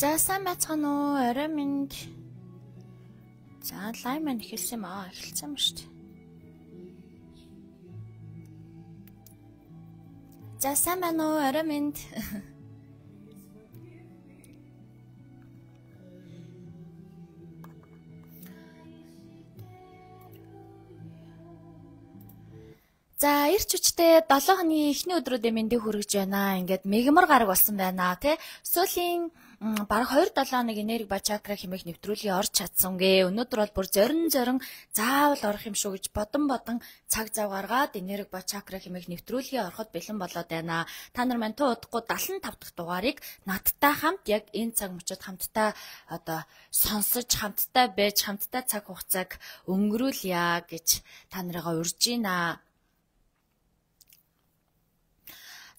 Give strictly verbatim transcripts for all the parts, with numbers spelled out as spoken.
За сайн байцгаана уу? Орой минь. За лайв маань эхэлсэн юм аа. Эхэлсэн юм шүү дээ. За сайн байна уу? Орой минь. За эрч хүчтэй долоо хоногийн эхний өдрүүдээ мэндийг хүргэж байна. Ингээд мегмар гараг болсон байна тий. Сүүлийн бараг хоёр долоо хоног энерги ба чакра хэмээх нэвтрүүлгийг орж чадсангээ. Өнөөдөр бол бүр зорин зорин заавал орох юм шүү гэж бодон бодон цаг зав гаргаад энерги ба чакра хэмээх нэвтрүүлгийг ороход бэлэн болоод байна. Та нар мань туу удахгүй даатан дахь дугаарыг надтай хамт яг энэ цаг мөчид хамтдаа одоо сонсож хамтдаа байж хамтдаа цаг хугацааг өнгөрүүлье гэж та нарыгаа урьж байна.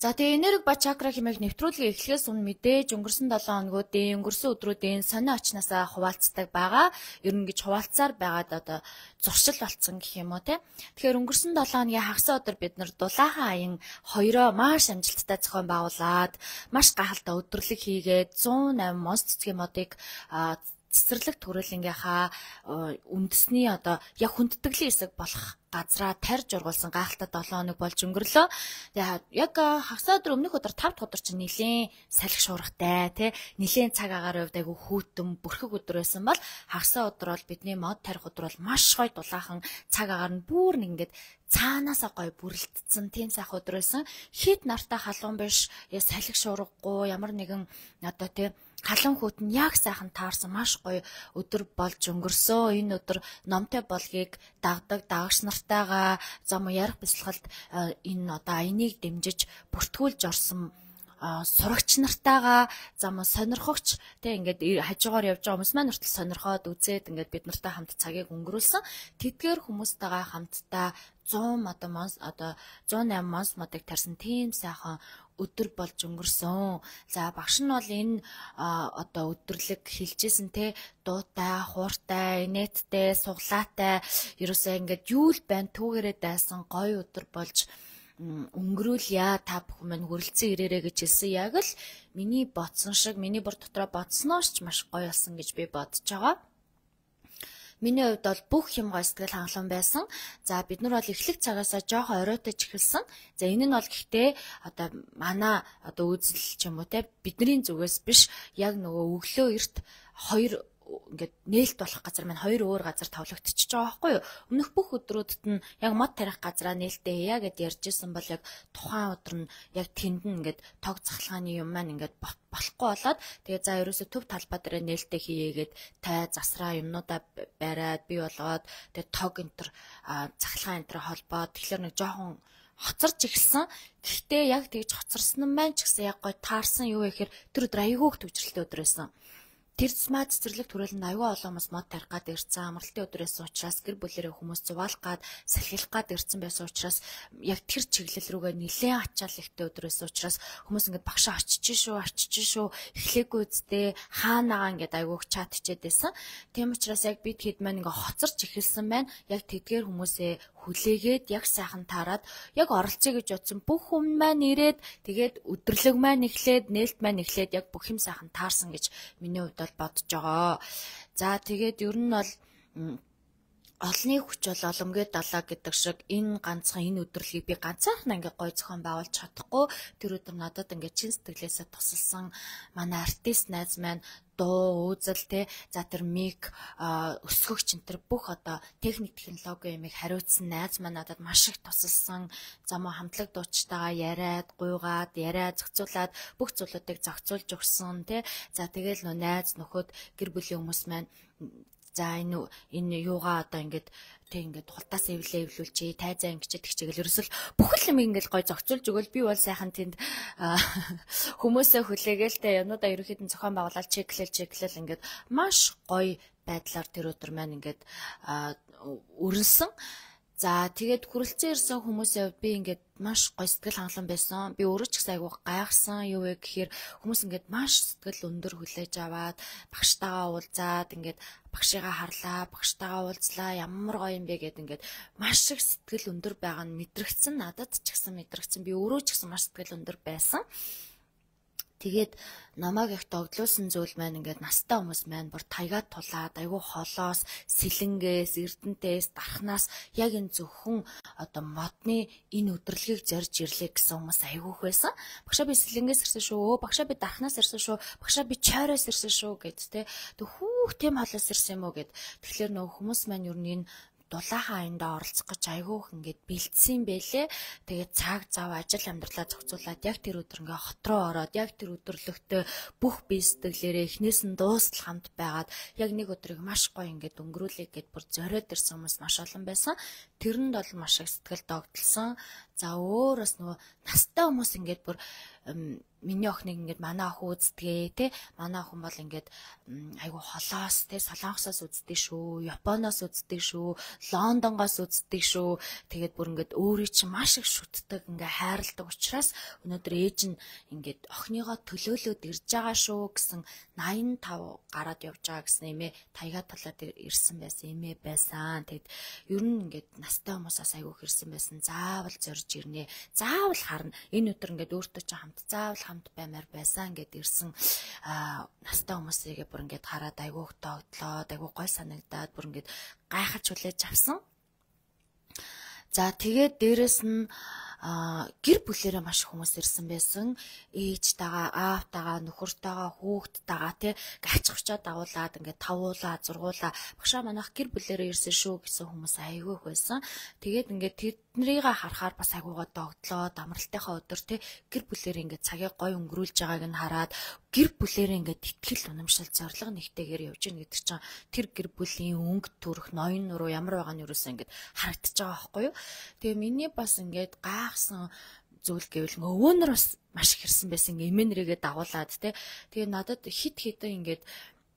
За тэгээ энерги ба чакра хэмээх нэвтрүүлгийг эхлэхээс өмнө мэдээж өнгөрсөн долоо хоногуудын өнгөрсөн өдрүүдийн сонио очноосаа хуваалцдаг байгаа. Ер нь гэж хуваалцаар байгаад одоо зуршил болцсон гэх юм уу те. Тэгэхээр өнгөрсөн долоо хоногийн хагас өдөр бид нар дулаахан аян хоёроо маш амжилттай зохион байгуулад маш гахалтай өдөрлөг хийгээд зуун осем монс цэцгийн модыг цэцэрлэг төрөлнгийнхаа үндэсний одоо яг хүндтгэлийн хэсэг болох газраа тарж ургуулсан гайхалтай долоо хоног болж өнгөрлөө. Тэгээ яг хагас өдөр өмнөх өдөр тав дахь өдөр чинь нэлээд салхи шуургатай тий нэлээд цаг агаар хувьд айгу хүүтэн бүрхэг өдөр байсан бол хагас өдөр бол бидний мод тарих өдөр бол маш гоё дулаахан цаг агаар нь бүр нэг ингээд цаанаасаа гоё бүрэлдсэн тийм сайхан өдөр байсан. Хит нартай халуун биш, салхи шуургагүй ямар нэгэн одоо тий халуун хүүт нь яг сайхан таарсан маш гоё өдөр болж өнгөрсөө. Энэ өдөр номтой болгийг дагдаг дагагч нартайгаа зам ярих бясалгалд энэ одоо аяныг дэмжиж бүртгүүлж орсон сурагч нартайгаа зам сонирхогч тэг ингээд хажуугаар явж байгаа хүмүүс маань хүртэл сонирхоод үзээд ингээд бид нартай хамт цагийг өнгөрүүлсэн. Тэдгээр хүмүүстэйгээ хамтдаа сто одоо монс одоо сто осем монс модыг тарсан тийм сайхан өдөр болж өнгөрсөн. За багш нь бол энэ одоо өдөрлөг хэлжсэн те дуутай, хууртай, инээдтэй, суглаатай ерөөсөө ингээд юу л байн түүгээрээ дайсан гоё өдөр болж өнгөрүүлье. Та бүхэн минь хүрэлцэн ирээрээ гэж хэлсэн. Яг л миний бодсон шиг миний бүр дотроо бодснооч маш гоё болсон гэж би бодож байгаа. Миний хувьд бол бүх юм гоё сэтгэл хангалуун байсан. За бид нар бол эхлэх цагаасаа жоохон оройтож эхэлсэн. За энэ нь бол гэхдээ одоо манай одоо үзэл ч юм уу те бидний зүгээс биш яг нөгөө өглөө эрт хоёр ингээд нээлт болох газар маань хоёр өөр газар тавлагдчихж байгаа байхгүй юу? Өмнөх бүх өдрүүдэд нь яг мод тарих газараа нээлттэй яа гэд ярьж исэн бол яг тухайн өдөр нь яг тэнд нь ингээд тог цахилгааны юм маань ингээд болохгүй болоод тэгээ за ерөөсө төв талбай дээр нээлттэй хийгээд тай засраа юмнуудаа бариад бий болгоод тэгээ тог энтер цахилгаан энтер холбоод тэгэхээр нэг жоохон хоцорч эхэлсэн. Гэхдээ яг тэгж хоцорсон нь маань ч гэсэн яг гой таарсан юу вэ гэхээр тэр өдөр аягүй төвчрэлтэй өдөр байсан. Тэр смаа цэцэрлэг төрөлд аюул олон хүмүүс мод тарих гад ирсэн амралтын өдөр байсан учраас гэр бүлэрээ хүмүүс зуваалах гад салхилах гад ирсэн байсан учраас яг тэр чиглэл рүүгээ нэлээд ачаал ихтэй өдөр байсан учраас хүмүүс ингээд багшаа очиж шүү очиж шүү эхлээгүй үсттэй хаанаага ингээд аюуг чат хичээд байсан. Тийм учраас яг бид хэд маань ингээд хоцорч эхэлсэн байна. Яг тэдгээр хүмүүсээ хүлээгээд яг сайхан таарад яг оролцъё гэж бодсон бүх хүн маань ирээд тэгээд өдөрлөг маань эхлээд нээлт маань эхлээд яг бүх юм сайхан таарсан гэж миний хувьд бол бодож байгаа. За тэгээд ер нь бол олонний хүч бол оломгүй далаа гэдэг шиг энэ ганцхан энэ өдрөлийг би ганцаархнаа ингээ гой зохион байгуулж чадахгүй. Тэр өдөр надад ингээ чин сэтгэлээсээ тусалсан манай артист найз маань дуу үзэл те за тэр мик өсгөгч энэ тэр бүх одоо техник технологи юмыг хариуцсан найз маань надад маш их тусалсан. Замаа хамтлаг дуучтайгаа яриад гуйгаад яриа зохицуулаад бүх зүйлүүдийг зохицуулж өгсөн те. За тэгэл нөө найз нөхөд гэр бүлийн хүмүүс маань за энэ энэ юугаа одоо ингээд тэг ингээд хултаас эвлээ эвлүүлчихье тайзаа ингэчээд тэгчээгэл ерөөсөл бүх юм ингээд гой зохицуулж өгөөл би бол сайхан тэнд хүмүүсээ хүлээгээл тэ юмудаа ерөөхдөө зохион байгуулалт чеклэл чеклэл ингээд маш гоё байдлаар тэр өдөр маань ингээд өрнсөн. За тэгээд хүрэлцэн ирсэн хүмүүсээ би ингээд маш гоё сэтгэл хангалуун байсан. Би өөрөө ч гэсэн айгүй гайхсан юу вэ гэхээр хүмүүс ингээд маш сэтгэл өндөр хүлээж аваад багштайгаа уулзаад ингээд багшигаа харлаа, багштайгаа уулзлаа, ямар гоё юм бэ гэд ингээд маш их сэтгэл өндөр байгаа нь мэдрэгдсэн. Надад ч гэсэн мэдрэгдсэн. Би өөрөө ч гэсэн маш сэтгэл өндөр байсан. Тэгээд намайг их догдлуулсан зүйл маань ингээд настай хүмүүс маань бүр таягаад тулаад айгүй холоос, сэлэнгээс, эрдэнтээс, дархнаас яг энэ зөвхөн одоо модны энэ өдрлөгийг зорж ирлээ гэсэн хүмүүс айгүйх байсан. Багшаа би сэлэнгээс ирсэн шүү, багшаа би дархнаас ирсэн шүү, багшаа би чойроос ирсэн шүү гэд тэ. Тэг хүүх тийм холоос ирсэн юм уу гэд. Тэгэхээр нөгөө хүмүүс маань юу нэг дулаахан аяндаа оролцох гэж айгүйх ингээд бэлдсэн байлээ. Тэгээд цаг зав ажил амьдралаа зохицуулаад яг тэр өдөр ингээ хот руу ороод яг тэр өдөрлөгтөө бүх бие сэтгэлээрээ эхнээс нь дуустал хамт байгаад яг нэг өдрийг маш гоё ингээд өнгөрүүлээ гэд бүр зориод ирсэн хүмүүс маш олон байсан. Тэрэнд бол маш их сэтгэл догдолсон. За өөрөөс нөгөө настай хүмүүс ингээд бүр миний охиныг ингээд манай охин үздэг те, манай охин бол ингээд айгу холоос те, Солонгосоос үздэг шүү, Японоос үздэг шүү, Лондонгоос үздэг шүү. Тэгээд бүр ингээд өөрийг чинь маш их шүтдэг, ингээд хайрладаг учраас өнөөдөр ээж нь ингээд охиныгоо төлөөлөөд ирж байгаа шүү гэсэн найман тав гараад явж байгаа гэсэн эмээ таяга талаад ирсэн байсан эмээ байсан. Тэгэд ер нь ингээд настай хүмүүсээс айгу ирсэн байсан. Заавал зорж ирнэ. Заавал харна. Энэ өдөр ингээд өөртөө ч хамт заавал хамт баймаар байсан гэд ирсэн настай хүмүүсийгээ бүр ингээд хараад айгуух тогтлоод айгуу гой санагдаад бүр ингээд гайхаж хүлээж авсан. За тэгээд дээрэс нь гэр бүлээрээ маш хүмүүс ирсэн байсан. Ээжтэйгээ, аавтайгаа, нөхөртөйгээ, хүүхдтэйгээ тий гачхвчаад дагуулад ингээд тавуулаа, зургуулаа. Багшаа манайх гэр бүлээрээ ирсэн шүү гэсэн хүмүүс айгүйх байсан. Тэгээд ингээд тэднэрийг харахаар бас айгуугаа догтлоо, амралтынхаа өдөр тий гэр бүлээрээ ингээд цагийг гой өнгөрүүлж байгааг нь хараад гэр бүлээрээ ингээд итгэл унамшил зориг нэгтэйгээр явж гин гэдэг чинь тэр гэр бүлийн өнгө төрх ноён нуруу ямар байгаа нь юусэн ингээд харагдаж байгаа байхгүй юу. Тэгээ миний бас ингээд гайхсан зүйл гэвэл өвөнөр бас маш их ирсэн байсан. Эмээ нэрийгээ дагуулад те. Тэгээ надад хит хитэн ингээд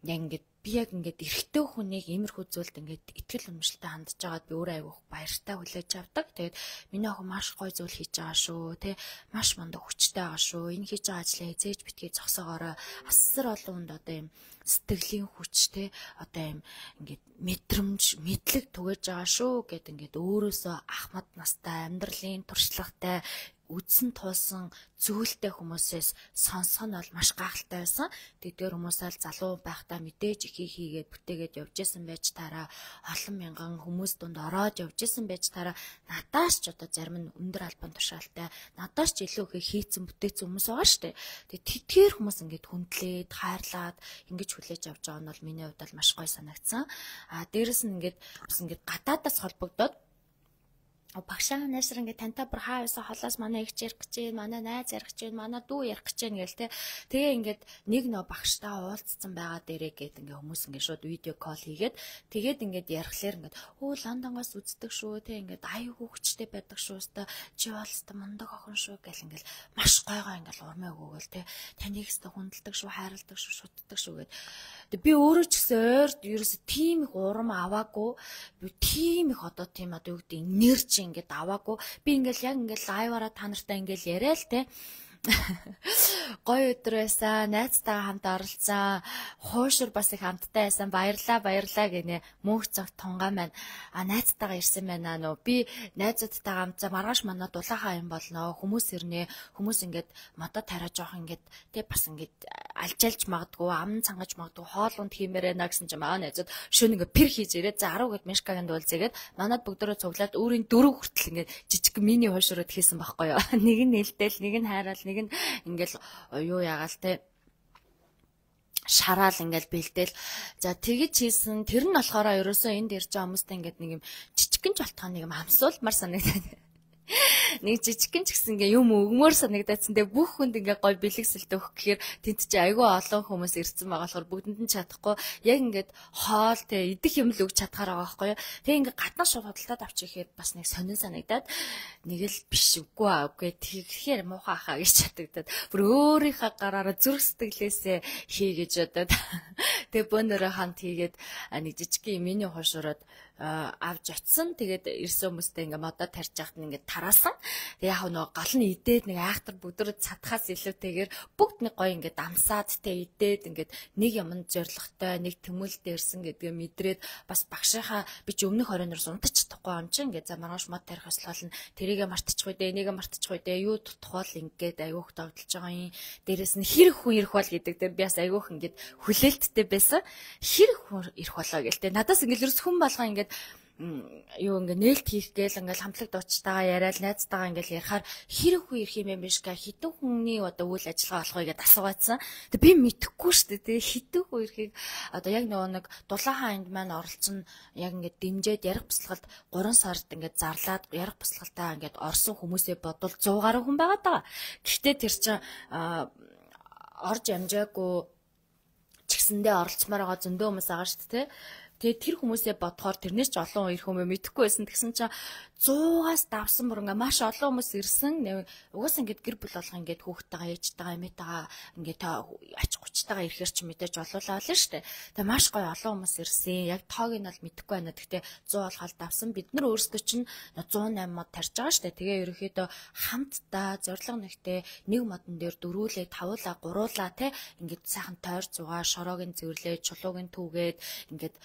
яг ингээд би яг ингээд эрэгтэй хүнийг иймэрхүү зүйлд ингээд итгэл үнэмшилтэй хандж байгаад би өөрөө айгүйх баяртай хүлээж авдаг. Тэгээд миний охин маш гоё зүйл хийж байгаа шүү те. Маш мундаг хүчтэй байгаа шүү. Энэ хийж байгаа ажлаа эзээж битгий зогсоогоорой. Асар олон хүнд одоо юм сэтгэлийн хүч те одоо юм ингээд мэдрэмж мэдлэг түгэж байгаа шүү гэд ингээд өөрөөсөө ахмад настай амьдралын туршлагатай үдсэн туулсан зүйлтэй хүмүүсээс сонсох нь бол маш гайхалтай байсан. Тэдгээр хүмүүсэл залуу байхдаа мэдээж ихийг хийгээд бүтээгээд явж исэн байж таараа олон мянган хүмүүс дунд ороод явж исэн байж таараа надаас ч одоо зарим нь өндөр албан тушаалтай надаас ч илүү их хийцэн бүтээсэн хүмүүс байгаа шүү дээ. Тэгээд тэдгээр хүмүүс ингээд хүндлээд хайрлаад ингэж хүлээж авч байгаа нь бол миний хувьд бол маш гоё санагдсан. А дээрэс нь ингээд бас ингээд гадаадаас холбогдоод багшаа нээсэр ингээд тантай бүр хаа байсан холоос манай их ярих гэж байна, манай найз ярих гэж байна, манай дүү ярих гэж байна гээл те. Тэгээ ингээд нэг нөө багштай уулзсан байгаа дээрээ гээд ингээд хүмүүс ингээд шууд видео кол хийгээд тэгээд ингээд ярихлаар ингээд өө Лондонгоос үздэг шүү те ингээд аюу хүчтэй байдаг шүү өстой чи болстой мундаг охин шүү гэл ингээд маш гойгоо ингээд урмаа өгөөл те. Таныг өстой хүндэлдэг шүү, хайрладаг шүү, шутдаг шүү гээд. Би өөрөө ч гэсэн ойрт ерөөсө тийм их урам аваагүй. Би тийм их одоо тийм одоо юу гэдэг энерги ингээд аваагүй. Би ингээл яг ингээл лайваараа та нартай ингээл яриа л те. Гоё өдөр байсан, найзтайгаа хамт оролцсон, хуушур бас их хамттай байсан, баярлаа баярлаа гинэ. Мөнх цаг тунгай маань а найзтайгаа ирсэн байна нөө. Би найзуудтайгаа хамт за маргааш манай дулаахан юм болно. Хүмүүс ирнэ. Хүмүүс ингээд модод тариа жоох ингээд тэ бас ингээд алжаалж магадгүй, ам цангаж магадгүй, хоол унд хиймээр байна гэсэн чинь маа найзууд шөнө ингээд пэр хийж ирээд за арав гэд мешкагийн дуулзээгээд манад бүгдөө цуглаад өөрийн дөрөв хүртэл ингээд жижиг мини хуушурууд хийсэн байхгүй юу. Нэг нь нэлтэл, нэг нь хайраал, нэг нь ингээл юу ягаал те шараал ингээл бэлдээл. За тэгэж хийсэн. Тэр нь болохоор ерөөсөө энд ирж байгаа хүмүүстэй ингээд нэг юм жижигхэн жолтгоо нэг юм амсуулмар санагдаад. Нэг жижигхэн ч гэсэн ингээ юм өгмөр санагдацсан. Тэгээ бүх хүнд ингээ гой бэлэгсэлтэй өгөх гэхээр тэнд чи айгүй олон хүмүүс ирсэн байгаа болохоор бүгдэнд нь чадахгүй яг ингээд хоол те идэх юм л өгч чадхаар байгаа байхгүй юу. Тэгээ ингээ гаднаа шууд худалдаад авчих ихэд бас нэг сонин санагдаад нэг л биш үгүй аа үгүй тэгэхээр муухай хаа гэж чадагдаад бүр өөрийнхөө гараараа зүрх сэтгэлээсээ хий гэж бодоод тэгээ бөөнөрөө хамт хийгээд нэг жижиг миний хошураад авч очисон. Тэгээд ирсэн хүмүүстэй ингээ модоо тарьж яхад нь ингээ тараасан. Тэг яг нөгөө гол нь идээд нэг айхтар бүдэр цатхаас илүүтэйгээр бүгд нэг гоё ингээ дамсаад тэ идээд ингээ нэг юмд зоригтой, нэг тэмүүлдэ ирсэн гэдгээ мэдрээд бас багшийнхаа би ч өмнөх оройноос унтаж чадахгүй юм чи ингээ за маргааш мод тарих ёслол нь тэрийгэ мартчихгүй дээ, энийг мартчихгүй дээ, юу тутахвал ингээд айгүйх тогтолж байгаа юм. Дээрээс нь хэрэг хүн ирэх бол гэдэг дээр би бас айгүйх ингээд хүлээлттэй байсан. Хэрэг хүн ирэх болоо гээл тэ. Надаас ингээд ерөөс хүн болгоо ингээд юу ингээ нээлт хийх гээл ингээл хамтлаг дуучтайгаа яриад найзтайгаа ингээл ярихаар хэрэг хүн ирэх юм биш га хитэн хүний одоо үйл ажиллагаа болох вэ гэдээ асуугаадсан. Тэг би мэдэхгүй шүү дээ. Хитэн хүн ирэхийг одоо яг нөгөө нэг дулаахан анд маань оролцсон яг ингээд дэмжээд ярих бяцлагалд гурван сард ингээд зарлаад ярих бяцлагалтаа ингээд орсон хүмүүсээ бодвол сто гаруй хүн байгаа даа. Гэхдээ тэр чинь орж амжаагүй ч гэсэндээ оролцмоор байгаа зөндөө хүмүүс байгаа шүү дээ. Тэгээд тэр хүмүүсээ бодохоор тэрнээс ч олон ирэх хүмүүс мэдэхгүй байсан. Тэгсэн чинь сто-аас давсан бүр ингээ маш олон хүмүүс ирсэн. Угаас ингээд гэр бүл болгоо ингээд хүүхдтэйгээ ээжтэйгээ эмээтэйгээ ингээд ач гучтайгаа ирэхэр ч мэдээж болуулаа л шүү дээ. Тэгээд маш гоё олон хүмүүс ирсэн. Яг тоог нь бол мэдэхгүй байна. Гэхдээ сто болгоод давсан. Бид нар өөрсдөө чинь сто осем мод тарьж байгаа шүү дээ. Тэгээ ерөөхдөө хамтдаа зориг нэгтэй нэг модон дээр дөрүүлээ, тавуулаа, гуруулаа те ингээд сайхан тойр зугаа, шороогийн зэвэрлээ, чулуугийн түүгээд ингээд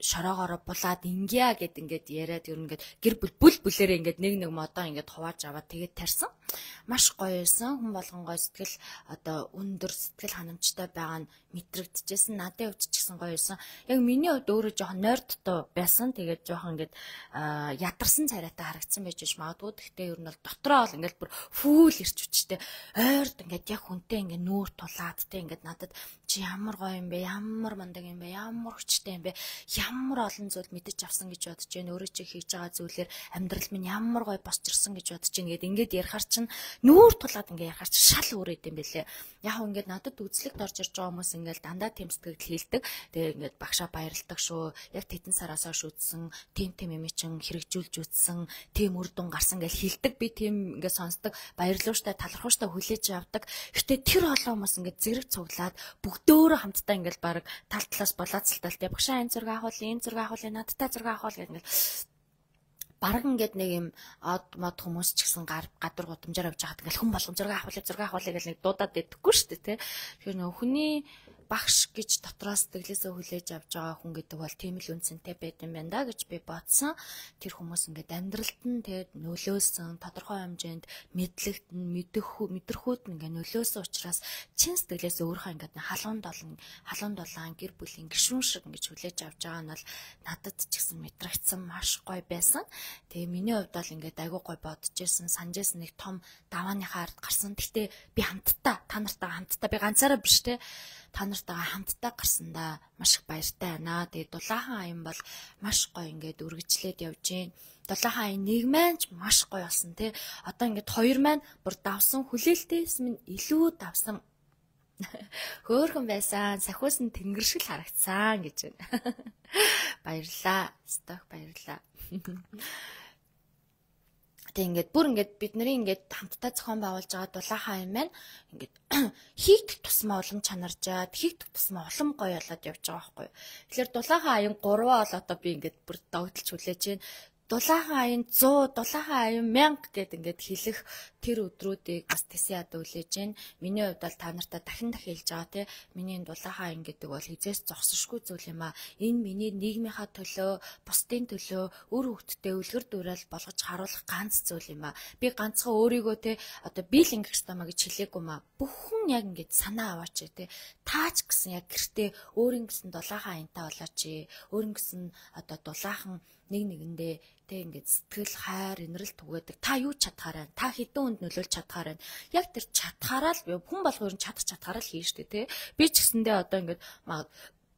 шороогоороо булаад ингья гэд ингээд яриад ер нь ингээд гэр бүл бүл бүлээрээ ингээд нэг нэг модоо ингээд хувааж аваад тэгээд тарьсан. Маш гоё байсан. Хүн болгонгой сэтгэл одоо өндөр сэтгэл ханамжтай байгаа нь мэдрэгдэжсэн. Надад хувьд ч гэсэн гоё байсан. Яг миний хувьд өөрөө жоохон нойрдтой байсан. Тэгээд жоохон ингээд ядарсан царайтай харагдсан байж магадгүй. Гэхдээ ер нь бол дотроо бол ингээд бүр фүүл ирч хүчтэй. Ойрд ингээд яг хүнтэй ингээд нүүр тулаад те ингээд надад чи ямар гоё юм бэ? Ямар мундаг юм бэ? Ямар хүчтэй юм бэ? Ямар олон зүйл мэдэж авсан гэж бодож байна. Өөрөө чи хийж байгаа зүйлээр амьдрал минь ямар гоё босч ирсэн гэж бодож байна гэд ингээд ярихаар чинь нүүр тулаад ингээд ярихаар чинь шал өөрөөд юм бэлээ. Яг ингээд надад үзлэгт орж ирж байгаа хүмүүс ингээд дандаа тэм сэтгэл хийлдэг. Тэгээ ингээд багшаа баярлдаг шүү. Яг тэдэн сараас хойш үтсэн, тим тим юм чин хэрэгжүүлж үтсэн, тим үр дүн гарсан гэж хийлдэг. Би тим ингээд сонсдог, баярлууштай, талархууштай хүлээж авдаг. Гэтэ тэр олон хүмүүс ингээд зэрэг цуглаад бүгдөө хамтдаа ингээд баг тал талаас болоцолтол те багшаа энэ зураг авахул, энэ зураг авахул, надтай зураг авахул гэх ингээд бараг ингээд нэг юм од мод хүмүүс ч гэсэн гар гадар гудамжаар авч байгаад ингээл хүн болгон зураг авахул, зураг авахул гэж нэг дуудаад байдаггүй шүү дээ те. Тэгэхээр нөх хүний багш гэж дотроос сэтгэлээсээ хүлээж авч байгаа хүн гэдэг бол тийм л үнцэнтэй байд юм байна да гэж би бодсон. Тэр хүмүүс ингээд амьдралд нь тэгээд нөлөөсөн, тодорхой хэмжээнд мэдлэгт нь мэдэх мэдрэхүйд нь ингээд нөлөөсөн учраас чин сэтгэлээсээ өөрийнхөө ингээд халуун долн, халуун дулаан гэр бүлийн гишүүн шиг ингээд хүлээж авч байгаа нь бол надад ч гэсэн мэдрэгдсэн маш гоё байсан. Тэгээ миний хувьд бол ингээд айгүй гоё бодож ирсэн, санаж ирсэн нэг том давааныхаа ард гарсан. Гэхдээ би хамтдаа, та нартаа хамтдаа би ганцаараа биш те. Та нартайгаа хамтдаа гарсандаа маш их баяртай байна. Тэгээд дулаахан аян бол маш гоё ингээд үргэлжлээд явж гин. Дулаахан аян нэг маань ч маш гоё болсон тий. Одоо ингээд хоёр маань бүр давсан хүлээлтээс минь илүү давсан. Хөөхөн байсан. Сахиус нь тэнгэр шиг харагдсан гэж байна. Баярлаа. Сток баярлаа. Тэг ингээд бүр ингээд бид нарын ингээд хамтдаа зохион байгуулж байгаа дулаахан аян маань ингээд хийгдэх тусмаа улам чанаржаад хийгдэх тусмаа улам гоё болоод явж байгаа байхгүй. Тэгэхээр дулаахан аян гурваа бол одоо би ингээд бүр догдолж хүлээж байна. Дулаахан аян сто, дулаахан аян мянга гэд ингээд хэлэх тэр өдрүүдийг бас тэсээ ада хүлээж байна. Миний хувьд бол та нартай дахин дахин хэлж байгаа тий. Миний дулаахан аян гэдэг бол хизээс зогсошгүй зүйл юм аа. Энэ миний нийгмийнхаа төлөө, бусдын төлөө, үр хөвгтдээ үлгэр дуурайл болгож харуулах ганц зүйл юм аа. Би ганцхан өөрийгөө тий одоо би л ингэх ёстой маа гэж хэлээгүй маа. Бүхэн яг ингээд санаа аваач тий. Таач гэсэн яг гэртээ өөрийн гэсэн дулаахан аянтаа болооч. Өөрийн гэсэн одоо дулаахан нэг нэгэндээ тэг ингээд сэтгэл хайр инрэл түгээдэг. Та юу чадхаараа, та хэдэн хүнд нөлөөлж чадхаараа. Яг тэр чадхаараа л хүн болгоо ер нь чадах чадхаараа л хийн штэ тий. Би ч гэсэндээ одоо ингээд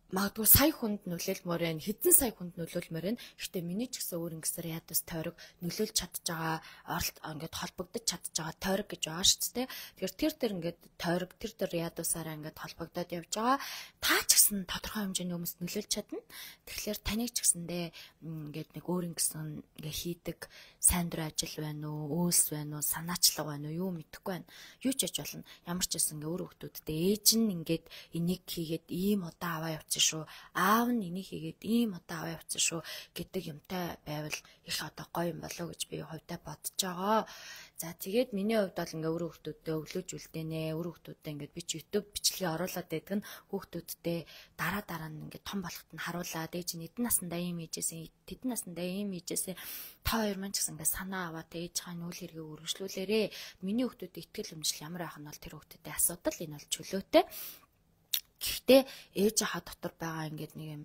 магадгүй сая хүнд нөлөөлмөр байна, хэдэн сая хүнд нөлөөлмөр байна. Гэхдээ миний ч гэсэн өөр ингэсээр ядас тойрог нөлөөлж чадж байгаа, оролт ингээд холбогдож чадж байгаа тойрог гэж байгаа шүү дээ. Тэгэхээр тэр тэр ингээд тойрог тэр тэр ядусаараа ингээд холбогдоод явж байгаа. Та ч гэсэн тодорхой хэмжээний хүмүүст нөлөөлж чадна. Тэгэхээр таныг ч гэсэндээ ингээд нэг өөр ингэсэн ингээд хийдэг сайн дур ажил байна уу, үйлс байна уу, санаачлага байна уу, юу мэдэхгүй байна. Юу ч яж болно. Ямар ч гэсэн ингээд өөр хүмүүстээ ээж нь ингээд энийг хийгээд ийм удаа аваа явж явцсан шүү. Аав нь энийг хийгээд ийм одоо аваа явцсан шүү гэдэг юмтай байвал их одоо гоё юм болов гэж би хувьдаа бодож байгаа. За тэгээд миний хувьд бол ингээ өөр хүүхдүүдтэй өглөөж үлдээнэ. Өөр хүүхдүүдтэй ингээ би ч YouTube бичлэгээ оруулаад байдаг нь хүүхдүүдтэй дараа дараа нь ингээ том болоход нь харуулаад ээж нь эдэн насандаа ийм хийжсэн, тэдэн насандаа ийм хийжсэн. Та хоёр маань ч гэсэн ингээ санаа аваад ээж хааны үйл хэргийг үргэлжлүүлээрээ. Миний хүүхдүүд итгэл өмжил ямар байх нь бол тэр хүүхдүүдтэй асуудал энэ бол чөлөөтэй. Гэхдээ ээж хаа дотор байгаа ингээд нэг юм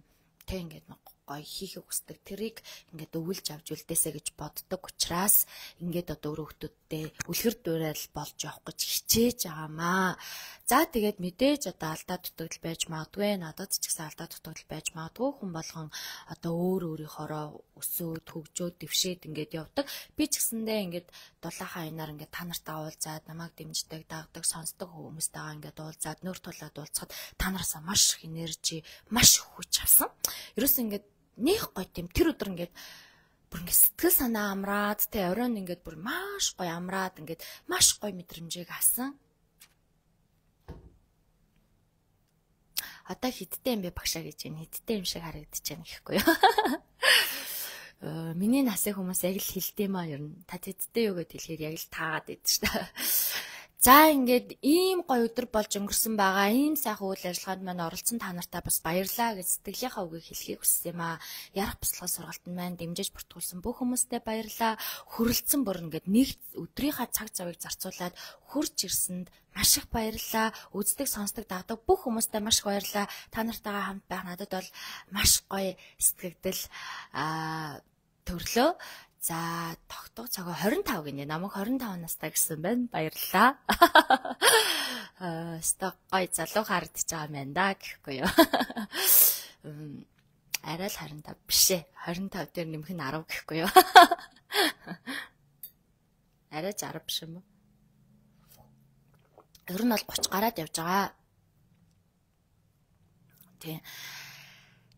тэг ингээд гоё хийхийг хүсдэг тэрийг ингээд өвлж авч үлдээсэ гэж боддог учраас ингээд одоо өөр хүүхдүүдтэй үлгэр дуурайл болж явах гэж хичээж байгаамаа. За тэгээд мэдээж одоо алдаа дутагдал байж магадгүй, надад ч гэсэн алдаа дутагдал байж магадгүй, хүн болгон одоо өөр өөрийнхоороо өсөөд хөгжөөд дэвшээд ингээд явдаг. Би ч гэсэндээ ингээд дулаахан аянаар ингээд та нартай уулзаад намайг дэмждэг, дагдаг, сонсдог хүмүүстэйгээ ингээд уулзаад нөр тулаад уулзахад та нараасаа маш их энержи, маш их хүч авсан. Ерөөс ингээд нэх гоё тийм тэр өдөр ингээд бүр ингээд сэтгэл санаа амраад тэ оройн ингээд бүр маш гоё амраад ингээд маш гоё мэдрэмжийг авсан. Одоо хиттэй юм бэ багшаа гэж байна. Хиттэй юм шиг харагдаж байна гэхгүй юу. Миний насны хүмүүс яг л хилтэй маа ер нь. Та хиттэй юу гэд хэлэхээр яг л таагаад байдаг шүү дээ. За ингээд ийм гоё өдөр болж өнгөрсөн байгаа. Ийм сайхан үйл ажиллагаанд маань оролцсон та нартай бас баярлалаа гэж сэтгэлийнхаа үгийг хэлхийг хүссэн юм аа. Ярах бяцлах сургалтанд маань дэмжиж бүртгүүлсэн бүх хүмүүстээ баярлалаа. Хүрэлцэн бүр ингээд нэг өдрийнхаа цаг завыг зарцуулаад хурж ирсэнд маш их баярлалаа. Үздэг, сонсдог, дагдаг бүх хүмүүстээ маш их баярлалаа. Та нартайгаа хамт байх надад бол маш гоё сэтгэгдэл аа төрлөө. За тогтоо цагаа хорин тав гинэ. Намайг хорин тав настай гэсэн байна. Баярлалаа. Аа, сток гой залуу харагдаж байгаа юм байна да гэхгүй юу. Арай л хорин тав биш ээ. хорин тав дээр нэмэх нь арав гэхгүй юу. Арай ч арав биш юм уу? Ер нь бол гуч гараад явж байгаа. Тий.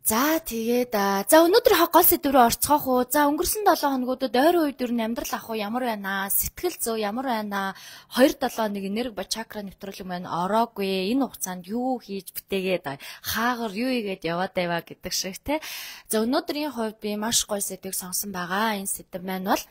За тэгээд за өнөөдөр гол сэдврээ орцгоох уу. За өнгөрсөн долоо хоногудад ойрын үед ер нь амьдрал ах уу ямар байна аа? Сэтгэл зүй ямар байна аа? хоёр долоо нэг энерги ба чакра нэвтрүүлэг маань ороогүй. Энэ хугацаанд юу хийж бүтээгээд хаагаар юу игээд яваад байваа гэдэг шиг те. За өнөөдрийн хувьд би маш гоё сэдвийг сонсон байгаа. Энэ сэдв маань бол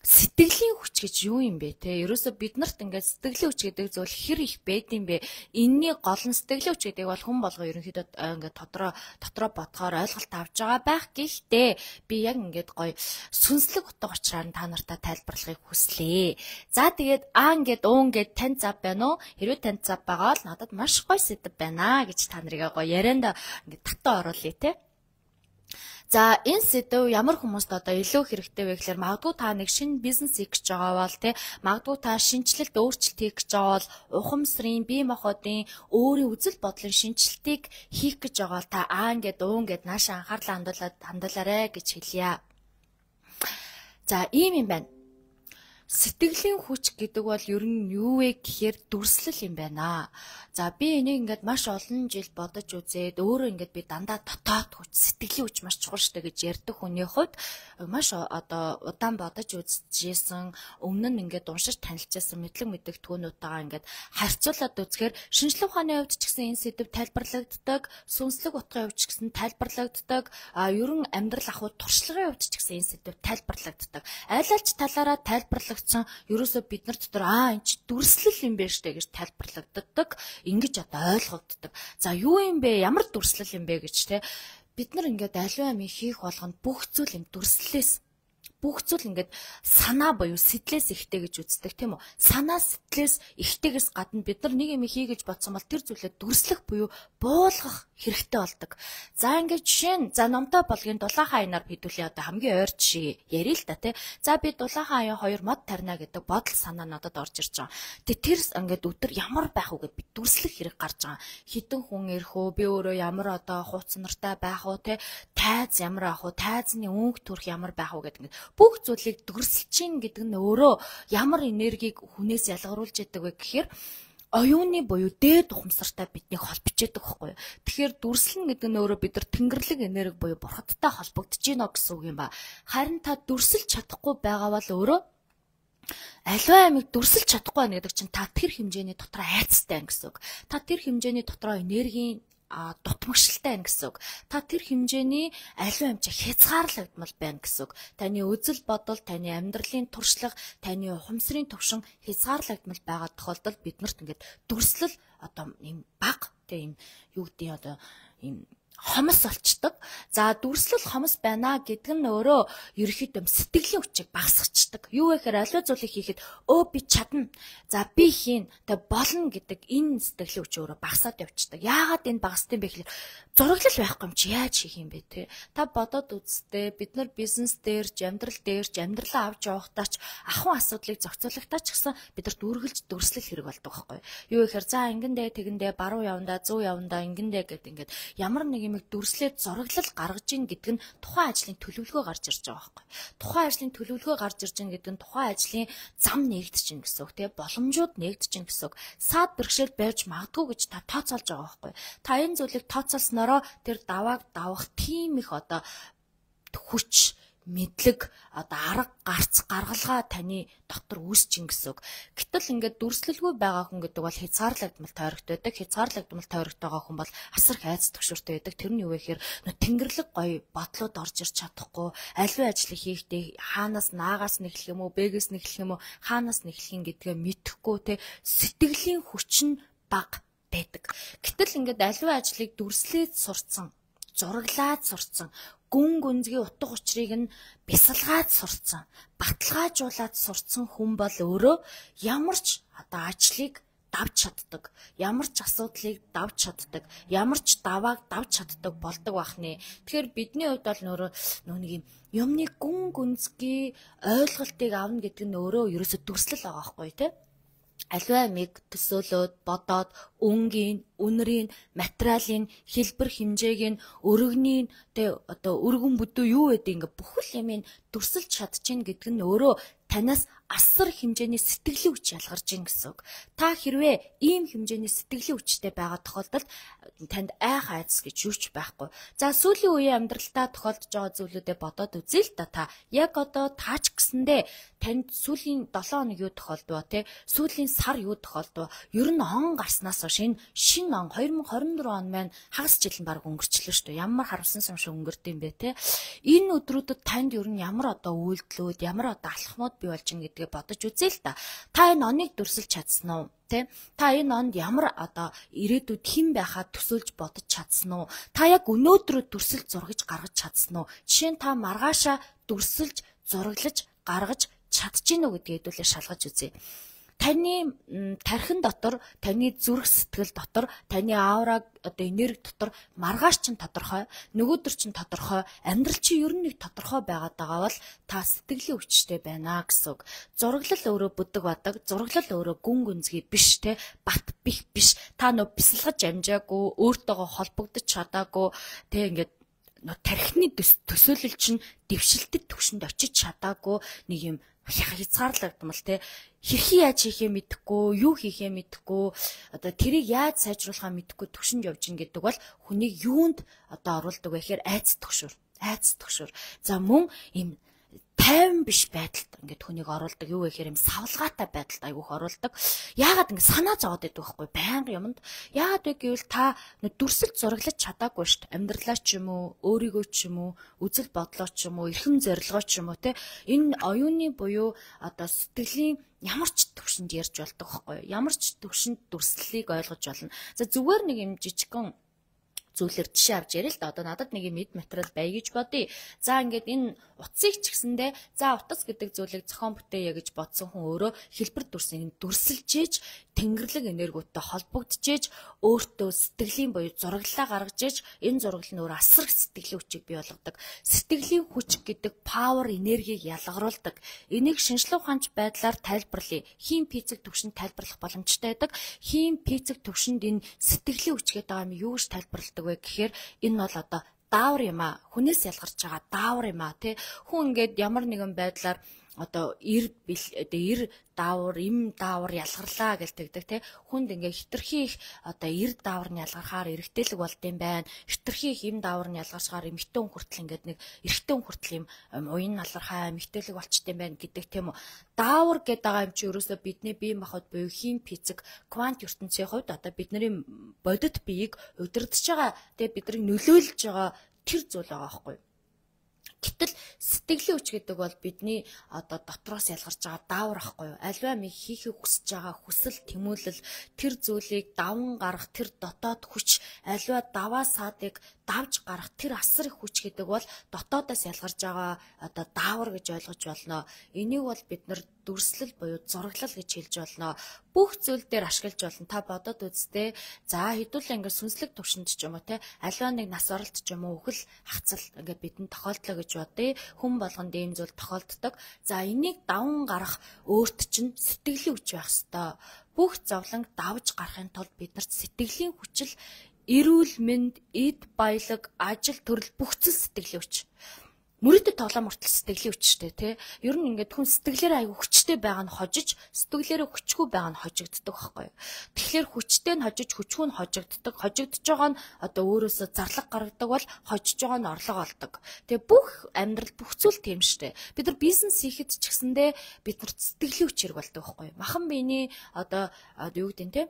сэтгэлийн хүч гэж юу юм бэ те? Ерөөсө бид нарт ингээд сэтгэлийн хүч гэдэг зүйл хэр их байд юм бэ? Энэний гол нь сэтгэлийн хүч гэдэг бол хүн болго ерөнхийдөө ингээд дотроо дотроо бодохоор ойлголт авч байгаа байх. Гэхдээ би яг ингээд гоё сүнслэг утга учраар та нартай тайлбарлахыг хүслээ. За тэгээд аа ингээд уу ингээд тань зав байна уу? Хэрвээ тань зав байгаа бол надад маш гоё сэдв байна гэж та нарыг гоё ярианд ингээд татаа оруулъя те. За энэ сэдв ямар хүмүүст одоо илүү хэрэгтэй вэ гэхээр магадгүй та нэг шинэ бизнес хийх гэж байгаа бол тий магадгүй та шинжилэлт өөрчлөлт хийх гэж байгаа бол ухамсарын бие махбодын өөрийн үзэл бодлын шинжилтийг хийх гэж байгаа бол та аа ингээд уу ингээд наашаа анхаарлаа хандуулаад хандуулаарэ гэж хэлье. За ийм юм байна. Сэтгэлийн хүч гэдэг бол ер нь юу вэ гэхээр дүрслэл юм байна. За би энийг ингээд маш олон жил бодож үзээд өөрөө ингээд би дандаа дотоод хүч, сэтгэлийн хүч маш чухал штэ гэж ярьдаг хүний хувьд маш одоо удаан бодож үзчихсэн, өмнө нь ингээд уншиж танилцсан мэдлэг мэдээлтгүүнүүдтэйгээ ингээд харьцуулаад үзэхээр шинжлэх ухааны хувьд ч гэсэн энэ сэдв тайлбарлагддаг, сүнслэг утгын хувьд ч гэсэн тайлбарлагддаг, а ерөн амьдрал ахуй туршлагын хувьд ч гэсэн энэ сэдв тайлбарлагддаг. Айл алч талаараа тайлбарлагдсан ерөөсөө бид нар дотор аа энэ ч дүрслэл юм байна штэ гэж тайлбарлагддаг. Ингэж одоо ойлгогддог. За юу юм бэ? Ямар дүрслэл юм бэ гэж те. Бид нар ингээд аливаа юм хийх болгонд бүх зүйл юм дүрслэлээс бүх зүйл ингээд санаа буюу сэтлээс ихтэй гэж үздэг тийм үү? Санаа сэтлээс ихтэйгээс гадна бид нар нэг юм хий гэж бодсон бол тэр зүйлээ дүрслэх буюу буулгах хэрэгтэй болдог. За ингээд жишээ нь за номтой болгын дулаахан аянаар хэдүүлээ одоо хамгийн ойр жишээ ярил л та тий. За би дулаахан аян хоёр мод тарина гэдэг бодол санаа надад орж ирж байгаа. Тэгээ тэр ингээд өдөр ямар байх вэ гэд би дүрслэх хэрэг гарч байгаа. Хитэн хүн ирэх үү? Би өөрөө ямар одоо хууц нартай байх уу тий? Тайз ямар авах уу? Тайзны өнгө төрх ямар байх уу гэдэг ингээд бүх зүйлийг дүрсэлж чинь гэдэг нь өөрөө ямар энергийг хүнээс ялгаруулж яадаг вэ гэхээр оюуны буюу дээд ухамсартай биднийг холбож яадаг байхгүй юу. Тэгэхээр дүрслэн гэдэг нь өөрөө бид нар тэнгэрлэг энерги буюу бурхадтай холбогдож гинэ гэсэн үг юм ба. Харин та дүрсэлж чадахгүй байгаа бол өөрөө аливаа амиг дүрсэлж чадахгүй байна гэдэг чинь та тэр хэмжээний дотроо айцтай гэсэн үг. Та тэр хэмжээний дотроо энергийн а дутмагшилтай байна гэсэн үг. Та тэр хэмжээний аливаа хэмжээ хязгаарлагдмал байна гэсэн үг. Таны үзэл бодол, таны амьдралын туршлага, таны ухамсарын төвшин хязгаарлагдмал байгаа тохиолдолд биднэрт ингээд дүрслэл одоо ийм баг тийм юу гэдэг нь одоо ийм хомос болчдөг. За дүрслэл хомос байна гэдэг нь өөрөө ерөөхдөө сэтгэлийн хүчийг багасгачдаг. Юу вэ гэхээр аливаа зүйлийг хийхэд өө би чадна. За би хийн. Тэ болно гэдэг энэ сэтгэлийн хүч өөрөө багасаад явчихдаг. Яагаад энэ багасдсан бэ гэхээр зураглал байхгүй юм чи яаж хийх юм бэ те? Та бодоод үзтээ бид нар бизнес дээр, амьдрал дээр, амьдралаа авч явахдаа ч ахуйн асуудлыг зохицуулагтаа ч гэсэн бидэрт үргэлж дүрслэл хэрэг болдог байхгүй. Юу вэ гэхээр за ингэндээ тэгэндээ баруун явандаа, зүүн явандаа ингэндээ гэдэг ингээд ямар нэг юм дүрслээд зураглал гаргаж ийн гэдэг нь тухайн ажлын төлөвлөгөө гарч ирж байгаа байхгүй. Тухайн ажлын төлөвлөгөө гарч ирж ийн гэдэг нь тухайн ажлын зам нэгдэж чинь гэсэн үг тийм боломжууд нэгдэж чинь гэсэн үг. Саад бэрхшээл байж магадгүй гэж та тооцоолж байгаа байхгүй. Та энэ зүйлийг тооцоолснороо тэр давааг давах тийм их одоо хүч мэдлэг одоо арга гарц гаргалгаа таны дотор үүсчин гэсэн үг. Гэтэл ингээд дүрслэлгүй байгаа хүн гэдэг бол хязгаарлагдмал тойрогтой байдаг. Хязгаарлагдмал тойрогтой байгаа хүн бол асар хайц төгшөртэй байдаг. Тэр нь юу вэ гэхээр тэнгэрлэг гоё бодлоод орж ирч чадахгүй, аливаа ажлыг хийхдээ хаанаас наагаас нэхлэх юм уу, бэгээс нэхлэх юм уу, хаанаас нэхлэх юм гэдгээ мэдэхгүй те сэтгэлийн хүч нь бага байдаг. Гэтэл ингээд аливаа ажлыг дүрслээд сурцсан, зураглаад сурцсан, гүн гүнзгий утга учирыг нь бясалгаад сурцсан, баталгаажуулаад сурцсан хүн бол өөрөө ямар ч одоо ажлыг давж чаддаг, ямар ч асуудлыг давж чаддаг, ямар ч давааг давж чаддаг болдог бахны. Тэгэхээр бидний хувьд бол нөрөө нэг юм юмны гүн гүнзгий ойлголтыг авна гэдэг нь өөрөө ерөөсө дүрслэл байгаа байхгүй тий. Аливаа миг төсөөлөөд бодоод өнгийн, үнэрийн, материалын, хэлбэр хэмжээг нь, өргөнийг тэ одоо өргөн бүдүү юу гэдэг ингээ бүхэл юмыг дүрсэлж чадчихна гэдэг нь өөрөө танаас асар хэмжээний сэтгэлийн хүч ялгарч ийн гэсэн үг. Та хэрвээ ийм хэмжээний сэтгэлийн хүчтэй байгаа тохиолдолд танд айх айдас гэж юу ч байхгүй. За сүүлийн үеийн амьдралдаа тохиолдож байгаа зүйлүүдэд бодоод үзье л да та. Яг одоо таач гэсэндээ танд сүүлийн долоон хоног юу тохиолдов те? Сүүлийн сар юу тохиолдов? Ер нь он гарснаас хойш энэ шинэ он две тысячи двадцать четыре он маань хагас жил нь баг өнгөрчлөө шүү дээ. Ямар харамсан юм шиг өнгөрд юм бэ те? Энэ өдрүүдэд танд ер нь ямар одоо үйлдэлүүд, ямар одоо алхмууд бий болж ин гэдгээ бодож үзье л да. Та энэ оныг дүрсэлж чадсан уу? Тэ? Та энэ онд ямар одоо ирээдүйд хэн байхаа төсөөлж бодож чадсан уу? Та яг өнөөдрөө дүрсэлж зургаж гаргаж чадсан уу? Жишээ нь та маргаашаа дүрсэлж зураглаж гаргаж чадчихэв үү гэдгийг хэдүүлээ шалгаж үзье. Таны тархин дотор, таны зүрх сэтгэл дотор, таны аураг одоо энерги дотор маргааш чинь тодорхой, нөгөөдөр чинь тодорхой, амьдрал чинь ер нь нэг тодорхой байгаад байгаа бол та сэтгэлийн хүчтэй байна гэсэн үг. Зураглал өөрөө бүдэг бадаг, зураглал өөрөө гүн гүнзгий биш те, бат бих биш. Та нөө бясалгаж амжаагүй, өөртөөгөө холбогдож чадаагүй те ингээд тархины төсөөлөл чинь дэвшилтэд түвшинд очиж чадаагүй нэг юм хязгаарлагдмал те хэрхий яаж хийхээ мэдэхгүй, юу хийхээ мэдэхгүй, одоо тэрийг яаж сайжруулахаа мэдэхгүй түвшинд явж ин гэдэг бол хүнийг юунд одоо оруулдаг вэ гэхээр айц төгшөр, айц төгшөр. За мөн им тайван биш байдалд ингээд хүнийг оруулдаг. Юу вэ гэхээр юм савлгаатай байдалд айгүйх оруулдаг. Яагаад ингэ санаа зовоод байдаг байхгүй байнга юмд. Яагаад вэ гэвэл та дүрсэлж зураглаж чадаагүй шүү дээ. Амьдралаа ч юм уу, өөрийгөө ч юм уу, үзэл бодлоо ч юм уу, эрхэм зорилгоо ч юм уу те энэ оюуны буюу одоо сэтгэлийн ямар ч төвшөнд ярьж болдог байхгүй юу? Ямар ч төвшөнд дүрслэлийг ойлгож болно. За зүгээр нэг юм жижигхэн зүйлэр жишээ авч яриа л да. Одоо надад нэг мэд материал бай гэж бодъё. За ингээд энэ утсыг ч гэсэндээ за утас гэдэг зүйлийг зохион бүтээе гэж бодсон хүн өөрөө хэлбэр дүрсийг дүрсэлжээж тэнгэрлэг энергиутай холбогдчихэж өөртөө сэтгэлийн буюу зураглалаа гаргаж иж энэ зураглал нь өөр асар сэтгэлийн хүчийг бий болгодог. Сэтгэлийн хүч гэдэг павер энергийг ялгаруулдаг. Энийг шинжлэх ухаанч байдлаар тайлбарлая. Хим физик төвшөнд тайлбарлах боломжтой байдаг. Хим физик төвшөнд энэ сэтгэлийн хүч гэдэг юм юу гэж тайлбарладаг вэ гэхээр энэ бол одоо даавар юм а. Хүнээс ялгарч байгаа даавар юм а тий. Хүн ингээд ямар нэгэн байдлаар одоо эр одоо эр даавар, им даавар ялгарлаа гэж тэгдэг те. Хүнд ингээ хитрхи их одоо эр даавар нь ялгархаар эрэгтэйлэг болд юм байна. Хитрхи их им даавар нь ялгарсаар эмэгтэй хүн хүртэл ингээд нэг эрэгтэй хүн хүртэл юм уян налархаа эмэгтэйлэг болчт юм байна гэдэг тийм үү. Даавар гэдэг байгаа юм чи ерөөсөө бидний бие махбод буюу хим физик квант ертөнцийн хувьд одоо бидний бодит биеийг удирдах байгаа тэгээ бидрийг нөлөөлж байгаа тэр зүйл байгаа байхгүй. Гэтэл сэтгэлийн хүч гэдэг бол бидний одоо дотроос ялгарч байгаа даавар ахгүй юу? Альва ми хийхийг хүсэж байгаа хүсэл тэмүүлэл тэр зүйлийг даван гарах тэр дотоод хүч альва даваа саадыг давж гарах тэр асар их хүч гэдэг бол дотоодоос ялгарч байгаа одоо даавар гэж ойлгож болно. Энийг бол бид нар дүрслэл буюу зураглал гэж хэлж болно. Бүх зүйл дээр ашиглаж болно. Та бодоод үзтээ. За хэдүүлээ ингээд сүнслэг төвшөнд ч юм уу те альва нэг нас оролт ч юм уу үхэл хацал ингээд бидэнд тохиолдлоо гэж бодъё. Хүн болгонд ийм зүйл тохиолддог. За энийг даван гарах өөрт чинь сэтгэлийн хүч байх ёстой. Бүх зовлонг давж гарахын тулд биднэрт сэтгэлийн хүчил эрүүл мэнд, эд баялаг, ажил төрөл бүх зүйл сэтгэлийн хүч. Мөрөдөд тоглоом мөртөл сэтгэлийн хүчтэй тий. Ер нь ингээд хүн сэтгэлээр айгүй хүчтэй байгаа нь хожиж, сэтгэлээрээ хүчгүй байгаа нь хожигддог байхгүй юу. Тэгэхээр хүчтэй нь хожиж, хүчгүй нь хожигддог. Хожигдож байгаа нь одоо өөрөөсөө зарлаг гаргадаг бол хожиж байгаа нь орлого олдог. Тэгээ бүх амьдрал бүх зүйл тийм штэ. Бид нар бизнес хийхэд ч гэсэндээ бид нар сэтгэлийн хүч хэрэг болдог байхгүй юу. Махан биений одоо юу гэдэг нь тий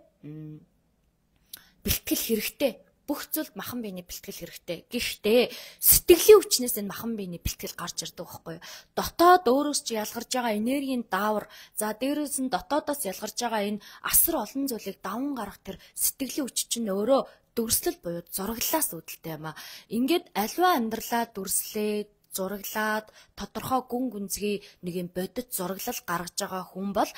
бэлтгэл хэрэгтэй. Бүх зүйлд махан биений бэлтгэл хэрэгтэй. Гэхдээ сэтгэлийн хүчнээс энэ махан биений бэлтгэл гарч ирдэг байхгүй юу? Дотоод өөрөөс чи ялгарч байгаа энергийн даавар, за дээрээс нь дотоодоос ялгарч байгаа энэ асар олон зүйлийг даван гарах тэр сэтгэлийн хүч чинь өөрөө дүрслэл буюу зураглалаас үүдэлтэй юм аа. Ингээд аливаа амьдралаа дүрслээд зураглаад тодорхой гүн гүнзгий нэг юм бодит зураглал гаргаж байгаа хүн бол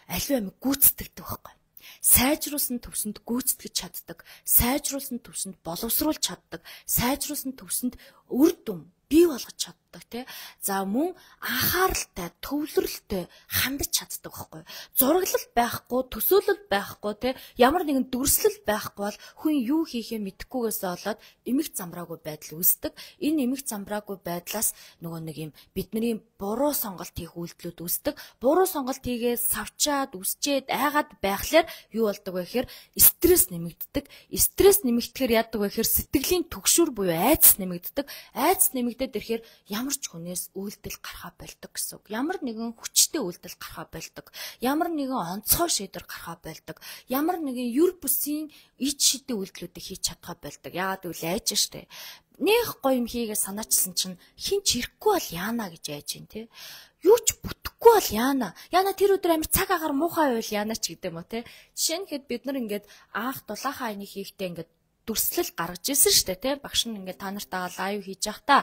аливаа юм гүйцэтгэдэг байхгүй юу? Сайжруулсан төвсөнд гүйцэтгэж чаддаг, сайжруулсан төвсөнд боловсруулж чаддаг, сайжруулсан төвсөнд үр дүн бий болгож чаддаг тий. За мөн анхааралтай, төвлөрөлтэй хандаж чаддаг байхгүй. Зураглал байхгүй, төсөөлөл байхгүй тий. Ямар нэгэн дүрслэл байхгүй бол хүн юу хийхээ мэдэхгүйгээс болоод эмх замбраагүй байдал үүсдэг. Энэ эмх замбраагүй байдлаас нөгөө нэг юм бидний буруу сонголт хийх үйлдэлүүд үүсдэг. Буруу сонголт хийгээ савчаад, үсчээд, айгаад байхлаар юу болдог вэ гэхээр стресс нэмэгддэг. Стресс нэмэгдэхээр яадаг вэ гэхээр сэтгэлийн түгшүүр буюу айдас нэмэгддэг. Айдас нэмэгдээд ирэхээр ямар ч хүнээс үйлдэл гарахаа болдог гэсэн үг. Ямар нэгэн хүчтэй үйлдэл гарахаа болдог. Ямар нэгэн онцгой шийдвэр гарахаа болдог. Ямар нэгэн юр бүсийн ид шидэ үйлдэлүүдийг хийж чадхаа болдог. Яагаад гэвэл айж штэ. Нэх гоё юм хийгээ санаачсан чинь хин ч ирэхгүй бол яана гэж айж ин тий. Юу ч бүтэхгүй бол яана. Яна тэр өдөр амир цаг агаар муухай байвал яана ч гэдэг юм уу тий. Жишээ нь хэд бид нар ингээд анх дулаахан айны хийхдээ ингээд дүрслэл гаргаж ирсэн шүү дээ тий. Багш нь ингээд та нартайгаа лайв хийж явах та.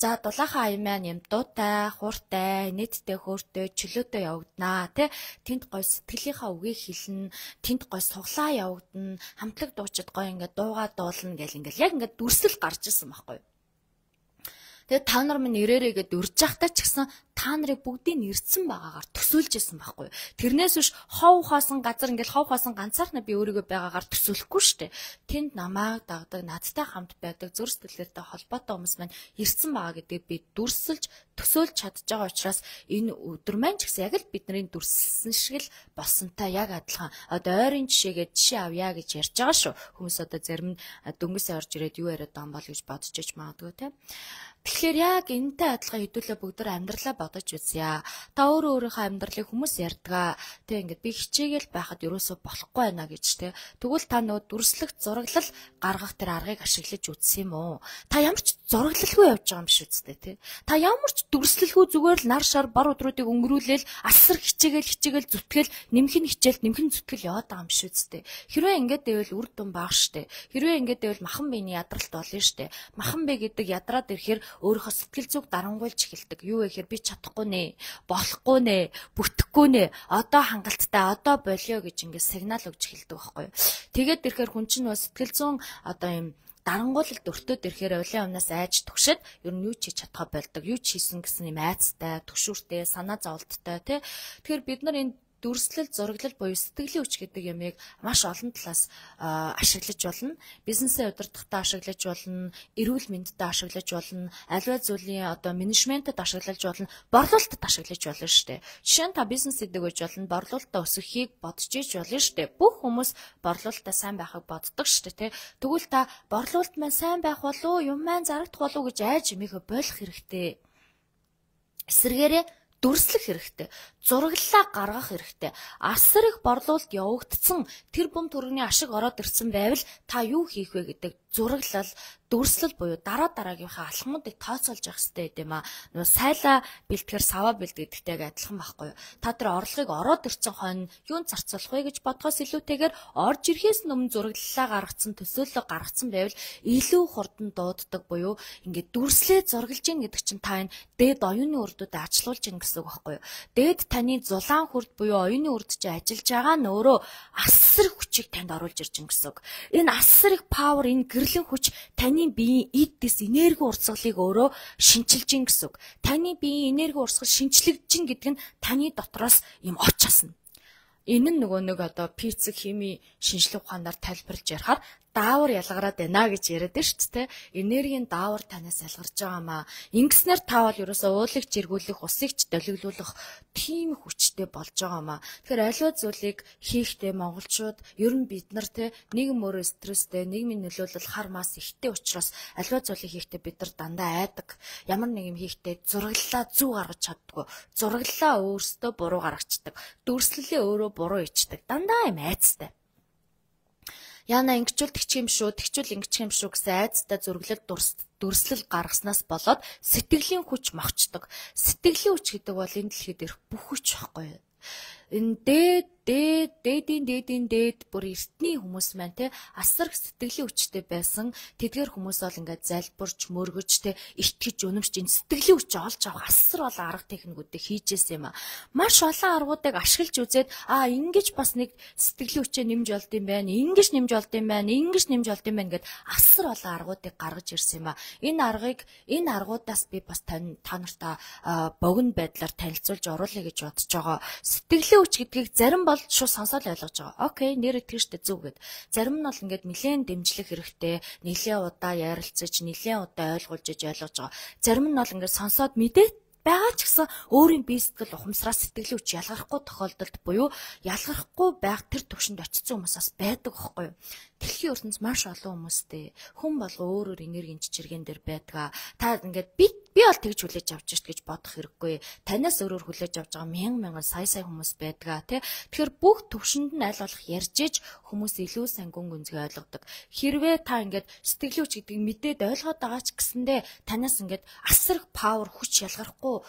За дулаахан аян маань юм дуутай, хууртай, нийтдээ хөөртэй, чөлөөтэй явагдана тий. Тэнд гой сэтгэлийнхаа үгийг хэлнэ, тэнд гой суглаа явагдана, хамтлаг дуучид гой ингээд дуугаа дуулна гэл ингээд яг ингээд дүрслэл гарч ирсэн байхгүй юу. Тэгээ та нар минь ирээрээ гэд урьж явахтаа ч гэсэн та нарыг бүгдийг нэрцэн байгаагаар төсөөлж исэн байхгүй юу. Тэрнээс биш хов хаасан газар ингээл хов хаасан ганцаархнаа би өөрийгөө байгаагаар төсөөлөхгүй штэ. Тэнд намайг дагдаг, надтай хамт байдаг, зүр сэтгэлээртэй холбоотой хүмүүс маань ирсэн байгаа гэдгийг би дүрсэлж төсөөлж чадж байгаа учраас энэ өдөр маань ч гэсэн яг л бидний дүрсэлсэн шиг л болсонтой яг адилхан. Одоо ойрын жишээгээ жишээ авъя гэж ярьж байгаа шүү. Хүмүүс одоо зарим нь дөнгөсөө орж ирээд юу яриад байгаа юм бол гэж бодож иж магадгүй те. Тэгэхээр яг энэтэй адилхан хэдүүлээ бүгд амьдралаа бодож үзье. Та өөрөө өөрийнхөө амьдралыг хүмүүс ярьдгаа. Тэ ингээд би хичээгээл байхад ерөөсөө болохгүй байна гэж тэ. Тэгвэл та нөө дүрслэх зураглал гаргах тэр аргыг ашиглаж үзсэн юм уу? Та ямар ч зураглалгүй явж байгаа юм биш үстэй тэ. Та ямар ч дүрслэлгүй зүгээр л нар шар бар өдрүүдийг өнгөрүүлээл асар хичээгээл хичээгээл зүтгэл нэмэх нь хичээл нэмэх нь зүтгэл яваад байгаа юм биш үстэй. Хэрвээ ингээд байвал үр дүн бага штэ. Хэрвээ ингээд байвал махан биений ядралт болно штэ. Махан бие гэдэг ядраад ирэхээр өөрийнхөө сэтгэл зүг дарангуйлж эхэлдэг. Юу вэ гэхээр би чадахгүй нэ, болохгүй нэ, бүтэхгүй нэ, одоо хангалттай, одоо болио гэж ингээд сигнал өгч эхэлдэг байхгүй юу. Тэгээд ирэхээр хүн чинь сэтгэл зүйн одоо юм дарангуулалд өртөөд ирэхээр улаан өмнөөс айж түгшээд ер нь юу ч хийж чадхаа болдог. Юу ч хийсэн гэсэн юм айцтай, түгшүүртэй, санаа зовлттой тий. Тэгэхээр бид нар энэ дүрслэл, зураглал буюу сэтгэлийн хүч гэдэг ямыг маш олон талаас ашиглаж болно. Бизнесээ удирдахдаа ашиглаж болно, эрүүл мэндэд ашиглаж болно, аливаа зүйлийн одоо менежментэд ашиглаж болно, борлуулалтад ашиглаж болно шүү дээ. Жишээ нь та бизнес гэдэг үеж болно, борлуулалтаа өсгөхийг бодож иж болно шүү дээ. Бүх хүмүүс борлуулалтаа сайн байхыг боддог шүү дээ, тэ. Тэгвэл та борлуулалт маань сайн байх болов уу, юм маань зарагдах болов уу гэж айж юмихэ болох хэрэгтэй. Эсвэргээрээ дүрслэх хэрэгтэй. Зураглалаа гаргах хэрэгтэй. Асар их борлуулалт явагдсан тэр бум төрөний ашиг ороод ирсэн байвал та юу хийх вэ гэдэг зураглал, дүрслэл буюу дараа дараагийнхаа алхмуудыг тооцоолж явах хэрэгтэй гэдэм аа. Нөгөө сайлаа бэлтгэхэр саваа бэлтгэдэгтэйг адилхан байхгүй юу? Та тэр орлогыг ороод ирсэн хойно юунд зарцуулах вэ гэж бодхоос илүүтэйгээр орж ирэхээс өмнө зураглалаа гаргацсан, төсөөлөл гаргацсан байвал илүү хурдан дууддаг буюу ингээд дүрслээ зургалж ийн гэдэг чинь та энэ дээд оюуны үрдүүдэд ачлуулж ийн гэсэн үг байхгүй юу? Дээд таны зулаан хүрд буюу оюуны үрд чи ажиллаж байгаа нь өөрөө асар их хүчийг танд оруулж ирж ийн гэсэн үг. Энэ асар их павер, энэ гэрлэн хүч таны биеийн эд дэс энерги урсгалыг өөрөө шинчилж ийн гэсэн үг. Таны биеийн энерги урсгал шинчлэгдэж ийн гэдэг нь таны дотроос юм оч асна. Энэ нь нөгөө нэг одоо физик, хими, шинжлэх ухаанаар тайлбарлаж ярихаар даавар ялгараад байна гэж яриад байна шүү дээ. Энергийн даавар танаас ялгарч байгаамаа. Ингэснээр та бол ерөөсөө уулыг жиргүүлэх, усыг ч долгиулуулах тийм хүчтэй болж байгаамаа. Тэгэхээр аливаа зүйлийг хийхдээ монголчууд ер нь бид нар те нийгэм өөрөө стресстэй, нийгмийн нөлөөлөл хар мас ихтэй учраас аливаа зүйлийг хийхдээ бид нар дандаа айдаг. Ямар нэг юм хийхдээ зураглалаа зүү гаргаж чаддгүй. Зураглалаа өөрсдөө буруу гаргацдаг. Дүрслэлээ өөрөө буруу ичдэг. Дандаа юм айцтай. Яна ингэчүүл тэгчих юм шүү, тэгчүүл ингэчих юм шүү гэсэн айцтай зураглал дүрслэл гаргаснаас болоод сэтгэлийн хүч мохчдог. Сэтгэлийн хүч гэдэг бол энэ дэлхийд ирэх бүх хүч байхгүй юу? Энэ дээд дээд дээдийн дээдийн дээд бүр эртний хүмүүс маань те асар их сэтгэлийн хүчтэй байсан. Тэдгээр хүмүүс бол ингээд залбирч, мөргөж те итгэж, үнэмшж энэ сэтгэлийн хүч олж авах асар олон арга техникүүдийг хийжсэн юм а. Маш олон аргуудыг ашиглаж үзээд а ингэж бас нэг сэтгэлийн хүчээ нэмж олд юм байна. Ингэж нэмж олд юм байна. Ингэж нэмж олд юм байна гэд асар олон аргуудыг гаргаж ирсэн юм а. Энэ аргыг энэ аргуудаас би бас та нартай богино байдлаар танилцуулж оруулъя гэж бодож байгаа. Сэтгэлийн хүч гэдгийг зарим бол шууд сонсоод ойлгож байгаа. Окей, нэр итгэжтэй зүг гэд. Зарим нь бол ингээд нэлээд дэмжлэх хэрэгтэй, нэлээд удаа ярилцаж, нэлээд удаа ойлгуулж ойлгож байгаа. Зарим нь бол ингээд сонсоод мэдээ байгаа ч гэсэн өөрийн бие сэтгэл ухамсараас сэтгэлийн хүч ялгархгүй тохиолдолд буюу ялгархгүй байх тэр төвшөнд очсон хүмүүс бас байдаг байхгүй юу? Дэлхийн ертөнц маш олон хүмүүстэй. Хүн болго өөрөөр энергийн чичиргэн дээр байдаг. Та ингээд би би бол тэгж хүлээж авч шít гэж бодох хэрэггүй. Танаас өөрөөр хүлээж авч байгаа мянган мянган сая сая хүмүүс байдаг тий. Тэгэхээр бүх төвшөнд нь аль болох ярьж иж хүмүүс илүү сайн гүн гүнзгий ойлгодог. Хэрвээ та ингээд сэтгэлийн хүч гэдгийг мэдээд ойлгоод байгаа ч гэсэндээ танаас ингээд асар их павер хүч ялгарахгүй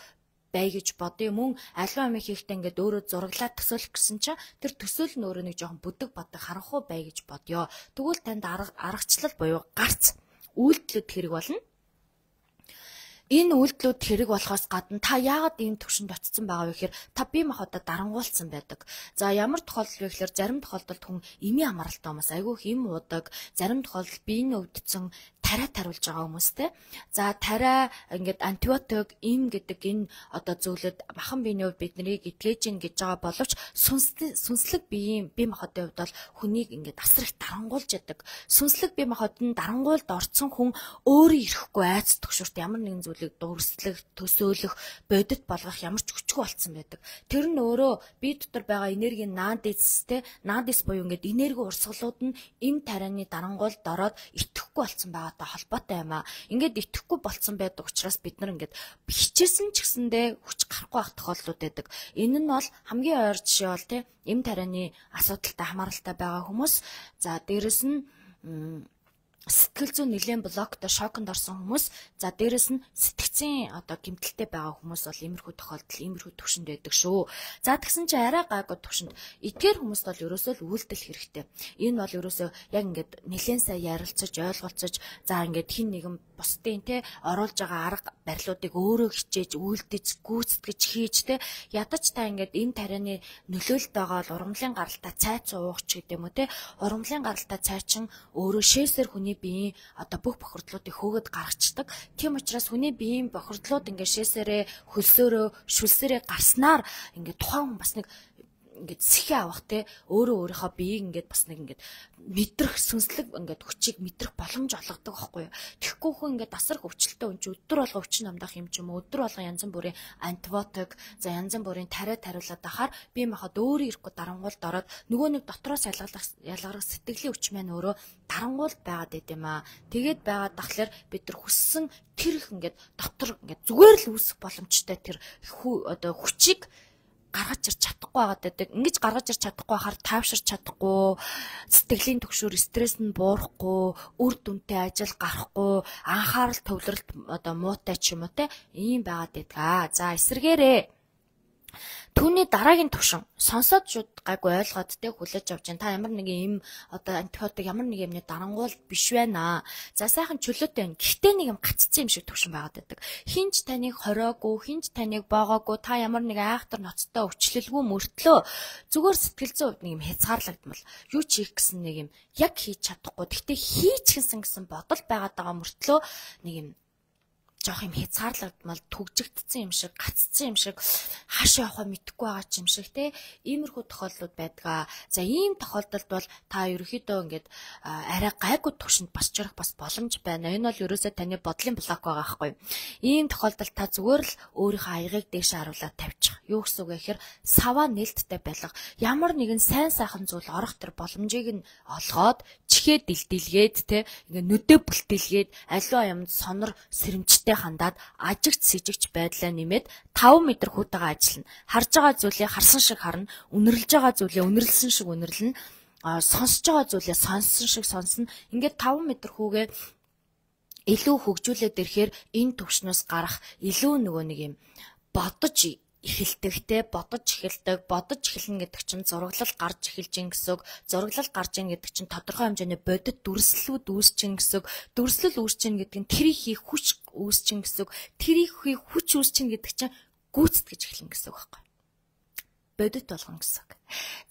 бай гэж бодъё. Мөн аливаа юм хийхдээ ингээд өөрөө зураглаад төсөөлөх гэсэн чинь тэр төсөөл нь өөрөө нэг жоохон бүдэг батг харахгүй бай гэж бодъё. Тэгвэл танд арга аргачлал буюу гарц үйлдэлүүд хэрэг болно. Энэ үйлдэлүүд хэрэг болохоос гадна та яагаад ийм төвшөнд очсон байгаа вэ гэхээр та бие махбодоо дарангуулсан байдаг. За ямар тохиолдол вэ гэхээр зарим тохиолдолд хүн эмийн амралтай хүмүүс айгүй их эм уудаг, зарим тохиолдолд биений өвдсөн тариа тариулж байгаа хүмүүстэй. За тариа ингээд антибиотик эм гэдэг энэ одоо зүйлүүд махан биений хувьд биднийг эдгэж гин гэж байгаа боловч сүнслэг биеийн бие махбодын хувьд бол хүнийг ингээд асар их дарангуулж яадаг. Сүнслэг бие махбод нь дарангуулд орцсон хүн өөрөө ирэхгүй айц төгшөрт ямар нэгэн зүйлийг дурслах, төсөөлөх, бодит болгох ямар ч хүчгүй болцсон байдаг. Тэр нь өөрөө бие дотор байгаа энергийн наадистэй, наадис буюу ингээд энерги урсгалууд нь эм тарианы дарангуулд ороод итгэхгүй болцсон байгаа холбоотой юм а. Ингээд итгэхгүй болцсон байдаг учраас бид нар ингээд хичээсэн ч гэсэндээ хүч гарахгүй байх тохиолдлууд байдаг. Энэ нь бол хамгийн ойр жишээ бол тий эм тарианы асуудалтай хамааралтай байгаа хүмүүс. За дээрэс нь сэтгэл зүйн нэлээд блоктой шоконд орсон хүмүүс, за дээрэс нь сэтгцийн одоо гэмтэлтэй байгаа хүмүүс бол иймэрхүү тохиолдол, иймэрхүү төвшөнд байдаг шүү. За тэгсэн чинь арай гайгүй төвшөнд эдгээр хүмүүст бол ерөөсөө л үйлдэл хэрэгтэй. Энэ бол ерөөсөө яг ингээд нэлээд сайн ярилцаж, ойлголцож, за ингээд хин нэгэн бусдын те оруулж байгаа арга барилуудыг өөрөө хичээж, үйлдэж, гүйцэтгэж хийж те ядаж та ингээд энэ тарианы нөлөөлөлт байгаа бол урамлын гаралтай цайц уух ч гэдэм үү те урамлын гаралтай цайчин өөрөө шээсээр хүний биеийн одоо бүх бохирдлуудыг хөөгд гаргацдаг. Тийм учраас хүний биеийн бохирдлууд ингээд шээсээрээ хөлсөөрөө шүлсээрээ гарснаар ингээд тухайн хүн бас нэг ингээд сэхээ авах те өөрөө өөрийнхөө биеийг ингээд бас нэг ингээд мэдрэх сүнслэг ингээд хүчийг мэдрэх боломж олгодог байхгүй юу. Тэгэхгүй хүн ингээд асар хөвчлөлтөө хүн чи өдөр болго өвчин намдах юм ч юм уу өдөр болго янз бүрийн антибиотик за янз бүрийн тариа тариулаад ахаар бие махбод өөрөө ирэхгүй дарангуулд ороод нөгөө нэг дотроос ялгарах ялгарах сэтгэлийн хүч маань өөрөө дарангуулд байгаад байт юм аа. Тэгээд байгаад тахлаар бид нар хүссэн тэр их ингээд дотор ингээд зүгээр л үүсэх боломжтой тэр одоо хүчийг гаргаж ирч чадахгүй байгаад байдаг. Ингэж гаргаж ирч чадахгүй хахаар тайвширч чадахгүй, сэтгэлийн түгшүүр стресс нь буурахгүй, үр дүнтэй ажил гарахгүй, анхаарал төвлөрөлт одоо муутай ч юм уу те ийм байгаад байдаг. За эсэргээрээ түүний дараагийн төвшин сонсоод шууд гайгүй ойлгоод те хүлээж авч जैन та ямар нэг юм одоо антибиотик ямар нэг юмны дарангуул биш байна. За сайхан чөлөөтэй байна. Гэхдээ нэг юм гаццсан юм шиг төвшин байгаад байдаг. Хинч таныг хороогүй, хинч таныг боогоогүй, та ямар нэг айхтар ноцтой өвчлөлгүй мөртлөө зүгээр сэтгэл зүйн хувьд нэг юм хязгаарлагдмал. Юу ч хийх гэсэн нэг юм яг хийж чадахгүй. Гэхдээ хийчихсэн гэсэн бодол байгаад байгаа мөртлөө нэг юм жоох юм хязгаарлагдмал түгжигдсэн юм шиг гаццсан юм шиг хаашаа явахаа мэдэхгүй байгаа ч юм шиг те иймэрхүү тохиолдлууд байдаг. За ийм тохиолдолд бол та ерөөхдөө ингээд арай гайгүй төвшөнд бас жирах бас боломж байна. Энэ бол ерөөсөө таны бодлын блок байгаа байхгүй. Ийм тохиолдолд та зүгээр л өөрийнхөө аягийг дээш харуулаад тавьчих. Юу гэсэн үг вэ гэхээр саваа нээлттэй байлга. Ямар нэгэн сайн сайхан зүйл орох тэр боломжийг нь олгоод чихээ дэлдэлгээд те ингээд нүдэ бүлтэлгээд аливаа юмд сонор сэрэмжтэй хандаад ажигч сэжигч байдлаа нэмээд таван метр хүүтэйгээ ажиллана. Харж байгаа зүйлээ харсан шиг харна, үнэрлж байгаа зүйлээ үнэрлсэн шиг үнэрлэнэ, сонсож байгаа зүйлээ сонссон шиг сонсно. Ингээд таван метр хүүгээ илүү хөгжүүлээд ирэхээр энэ төвшнөөс гарах илүү нөгөө нэг юм бодож эхэлдэгтэй бодож эхэлдэг бодож эхэлнэ гэдэг чинь зураглал гарч эхэлж гин гэсэн үг. Зураглал гарч ийн гэдэг чинь тодорхой хэмжээний бодит дүрслэлүүд үүсэж гин гэсэн үг. Дүрслэл үүсэж гин гэдэг нь тэрийг хийх хүч үүсэж гин гэсэн үг. Тэрийг хийх хүч үүсэж гин гэдэг чинь гүйцэтгэж эхэлнэ гэсэн үг байхгүй. Бодит болгоно гэсэн үг.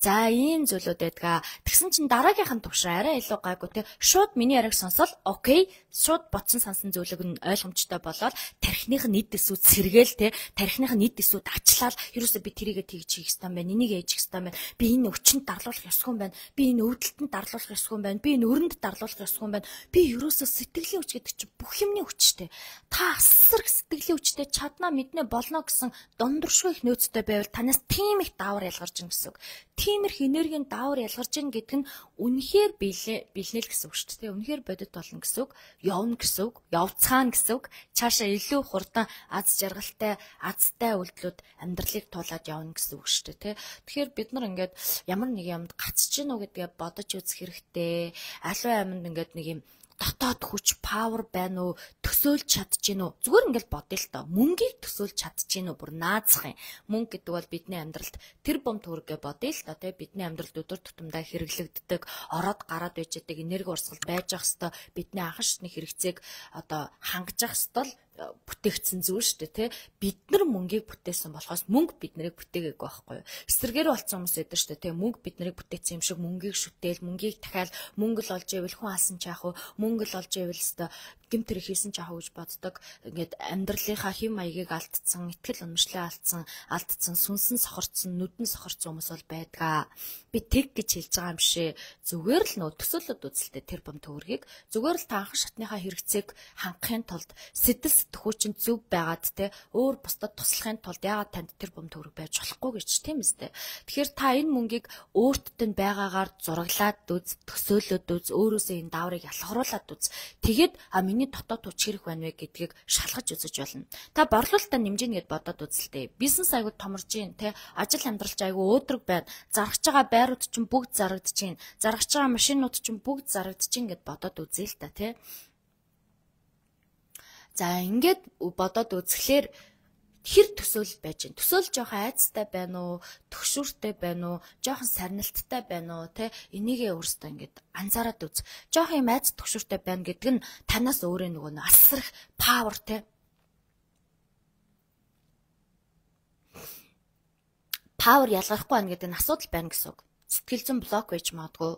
За ийм зүйлүүд байдгаа. Тэгсэн чинь дараагийнх нь төвшин арай илүү гайгүй те. Шууд миний яриг сонсол окей. Шууд бодсон сансан зүйлэг нь ойлгомжтой болоод тархиных нь нийт эсүүд сэргээл те. Тархиных нь нийт эсүүд ачлал ерөөсөө би тэрийгэ тэгж хийх ёстой юм байна. Энийг ээж хийх ёстой юм байна. Би энэ өвчнөд дарлуулах ёсгүй юм байна. Би энэ өвдөлтөнд дарлуулах ёсгүй юм байна. Би энэ өрөнд дарлуулах ёсгүй юм байна. Би ерөөсөө сэтгэлийн хүч гэдэг чинь бүх юмны хүчтэй. Та асар их сэтгэлийн хүчтэй чадна мэднэ болно гэсэн дундуршгүй их нөөцтэй байвал танаас тийм их даавар ялгарч ин гэсэн үг. Тиймэрх энергийн даавар ялгарч ийн гэдэг нь үнэхээр бэлнэл гэсэн үг шүү дээ. Үнэхээр бодит болно гэсэн үг. Явна гэсэн үг. Явцгаана гэсэн үг. Цаашаа илүү хурдан аз жаргалтай, азтай үйлдэлүүд амьдралыг туулаад явна гэсэн үг шүү дээ. Тэгэхээр бид нар ингээд ямар нэг юмд гацж гин үү гэдгээ бодож үзэх хэрэгтэй. Аливаа юмд ингээд нэг юм дотоод хүч павер байна уу төсөөлж чадчихэв үү зүгээр ингээл бодъё л доо мөнгийг төсөөлж чадчихэв үү бүр наазах юм мөнгө гэдэг бол бидний амьдралд тэр бом төрөгээ бодъё л доо тий бидний амьдралд өдөр тутамдаа хэрэглэгддэг ороод гараад байж байгаа энерги урсгал байж ах хэвээр бидний анхан шатны хэрэгцээг одоо хангаж ах хэвээр бүтээгдсэн зүйл шүү дээ тий бид нар мөнгийг бүтээсэн болохоос мөнгө бид нарыг бүтээгээгүй байхгүй юу эсэргээр болсон хүмүүс эдэр шүү дээ тий мөнгө бид нарыг бүтээсэн юм шиг мөнгийг шүтээл мөнгийг дахиад мөнгө л олж ивэл хүн алсан ч яах вэ мөнгө л олж ивэл өстө гэмт хэрэг хийсэн ч яах вэ гэж боддог ингээд амьдралынхаа хэм маягийг алдсан итгэл үнэмшлээ алдсан алдсан сүнсэн сохорцсон нүдэн сохорцсон хүмүүс бол байдгаа би тэг гэж хэлж байгаа юм шээ зүгээр л нөө төсөөлөд үзэлтэй тэр бом төгрөгийг зүгээр л та анхан шатныхаа хэрэгцээг хангахын тулд сэтэл сэтгхүүчин зөв байгаад те өөр бусдад туслахын тулд яагаад танд тэр бом төгрөг байж болохгүй гэж тийм үстэй тэгэхээр та энэ мөнгийг өөртөд нь байгаагаар зураглаад үз төсөөлөд үз өөрөөсөө энэ дааврыг ялгаруулад үз тэгээд а миний дотоод хүч хэрэг байна вэ гэдгийг шалгаж үзэж болно та борлуулалтаа нэмжинэ гэд бодоод үзэлтэй бизнес айгуу томорж гин те ажил амьдралч айгуу өөдрөг байна заргаж байгаа байрууд чинь бүгд зарагдаж гин заргаж байгаа машинууд чинь бүгд зарагдаж гин гэд бодоод үзээ л та те за ингээд бодоод үзэхлээр хэр төсөөлөл байж гин төсөөлж жоохон айцтай байна уу төгшүүртэй байна уу жоохон сарнилттай байна уу те энийгээ өөрөөсөө ингээд анзаараад үз жоохон юм айц төгшүүртэй байна гэдэг нь танаас өөрөө нөгөө асар их павер те павер ялгархгүй байна гэдэг нь асуудал байна гэсэн үг сэтгэл зүйн блок байж магадгүй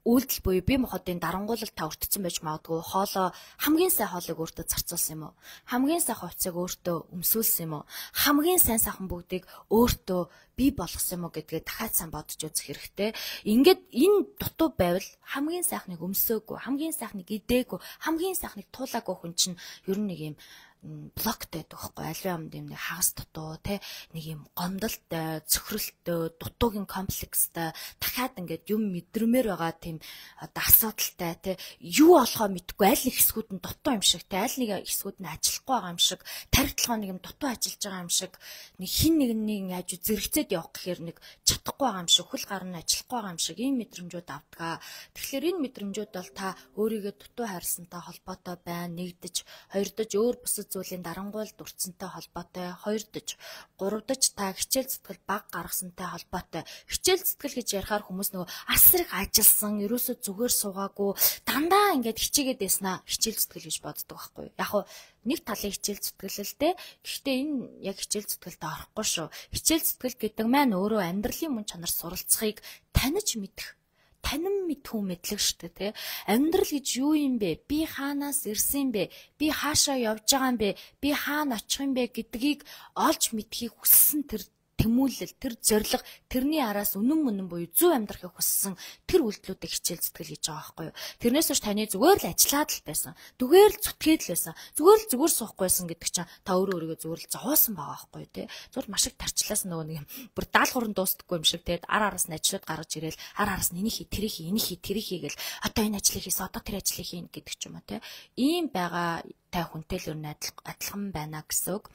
үйлдэл буюу бие махбодын дарангуулалт та өртсөн байж магадгүй. Хоолоо хамгийн сайн хоолыг өөртөө зарцуулсан юм уу? Хамгийн сайн хувцсыг өөртөө өмсүүлсэн юм уу? Хамгийн сайн сайхан бүгдийг өөртөө бий болгосон юм уу гэдгээ дахиад сайн бодож үзэх хэрэгтэй. Ингээд энэ дутуу байвал хамгийн сайхныг өмсөөгүй, хамгийн сайхныг идээгүй, хамгийн сайхныг туулаагүй хүн чинь ер нь нэг юм блоктэй байхгүй аливаа юмд юм нэг хагас дутуу те нэг юм гомдолтой, цөхрөлттэй, дутуугийн комплекстай дахиад ингээд юм мэдрэмээр байгаа тийм одоо асуудалтай те юу болохоо мэдгүй аль нэг хэсгүүд нь дутуу юм шиг те аль нэг хэсгүүд нь ажиллахгүй байгаа юм шиг тархитлогоо нэг юм дутуу ажиллаж байгаа юм шиг нэг хин нэг нэг хажуу зэрэгцээд явах гэхээр нэг чадахгүй байгаа юм шиг хөл гар нь ажиллахгүй байгаа юм шиг ийм мэдрэмжүүд авдгаа. Тэгэхээр энэ мэдрэмжүүд бол та өөрийгөө дутуу хайрласантай холбоотой байна. Нэгдэж, хоёрдож өөр бусад зүйлийн дарангуйл дурдсантай холбоотой, хоёрдож, гуравдаж та хичээл зүтгэл баг гаргасантай холбоотой. Хичээл зүтгэл гэж ярихаар хүмүүс нөгөө асар их ажилласан, ерөөсөө зүгээр суугаагүй, дандаа ингээд хичээгээд байснаа хичээл зүтгэл гэж боддог байхгүй юу? Яг хуу нэг талын хичээл зүтгэлэлтэй. Гэхдээ энэ яг хичээл зүтгэлтэй орохгүй шүү. Хичээл зүтгэл гэдэг маань өөрөө амьдралын мөн чанар суралцахыг таних мэдэх. Танин мэдхүү мэдлэг шүү дээ, тэ. Амьдрал гэж юу юм бэ? Би хаанаас ирсэн бэ? Би хаашаа явж байгаа юм бэ? Би хаана очих юм бэ гэдгийг олж мэдхийг хүссэн тэр тэмүүлэл, тэр зориг, тэрний араас үнэн мөнэн буюу зөв амьдрахыг хүссэн тэр үйлдэлүүдийг хичээл зүтгэл хийж байгаа байхгүй юу. Тэрнээс ч таны зүгээр л ажиллаад л байсан. Зүгээр л зүтгээд л байсан. Зүгээр л зүгээр суухгүйсэн гэдэг чинь та өөрөө өөрийгөө зүгээр л зовоосон байгаа байхгүй юу, те. Зүгээр маш их тарчлаас нөгөө нэг юм бүр даалгавар нь дуустдаггүй юм шиг те. Ар араас нь ажлууд гаргаж ирээл ар араас нь энийг хий, тэрийг хий, энийг хий, тэрийг хий гэл одоо энэ ажлыг хийсэн, одоо тэр ажлыг хийн гэдэг ч юм уу, те. Ийм байгаа та хүнтэй л өөр адилхан байна гэсэн үг.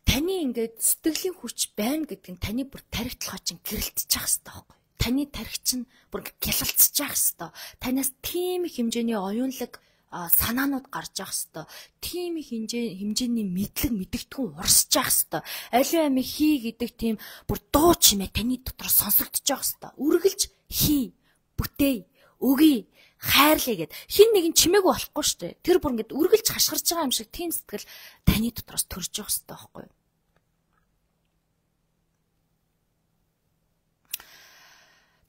Таны ингээд сэтгэлийн хүч байна гэдэг нь таны бүр тархитлогоо чинь гэрэлтчих хэвээр байхгүй. Таны тархи чинь бүр гялалцчих хэвээр. Танаас тийм их хэмжээний оюунлаг санаанууд гарч явах хэвээр. Тийм их хэмжээ хэмжээний мэдлэг мэдэгдэхүүн урсчих хэвээр. Аливаа амиг хий гэдэг тийм бүр дуу чимээ таны дотор сонсогдож явах хэвээр. Үргэлж хий, бүтээе, өгье, хайрлаа гэд хин нэгэн чимээгүй болохгүй шүү дээ. Тэр бүр ингээд үргэлж хашгирж байгаа юм шиг тийм сэтгэл таны дотроос төрж явах хэрэгтэй байхгүй юу?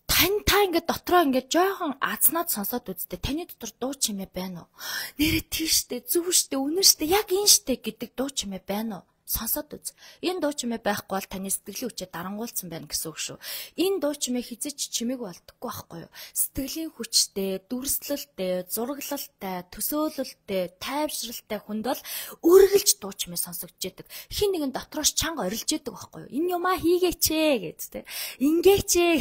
Тань та ингээд дотроо ингээд жоохон азнаад сонсоод үзтээ таны дотор дуу чимээ байна уу? Нэрээ тийштэй, зүв штэ, үнэн штэ, яг энэ штэ гэдэг дуу чимээ байна уу? Сонсоод үз. Энэ дуу чимээ байхгүй бол таны сэтгэлийн хүчээ дарангуулсан байна гэсэн үг шүү. Энэ дуу чимээ хизэж чимээгүй болдоггүй байхгүй юу? Сэтгэлийн хүчтэй, дүрслэлтэй, зураглалтай, төсөөлөлтэй, тайвшралтай хүнд бол үргэлж дуу чимээ сонсогдож яадаг. Хин нэгэн дотроос чанга орилж яадаг байхгүй юу? Энэ юмаа хийгээч ээ гэж тэ. Ингээч ээ.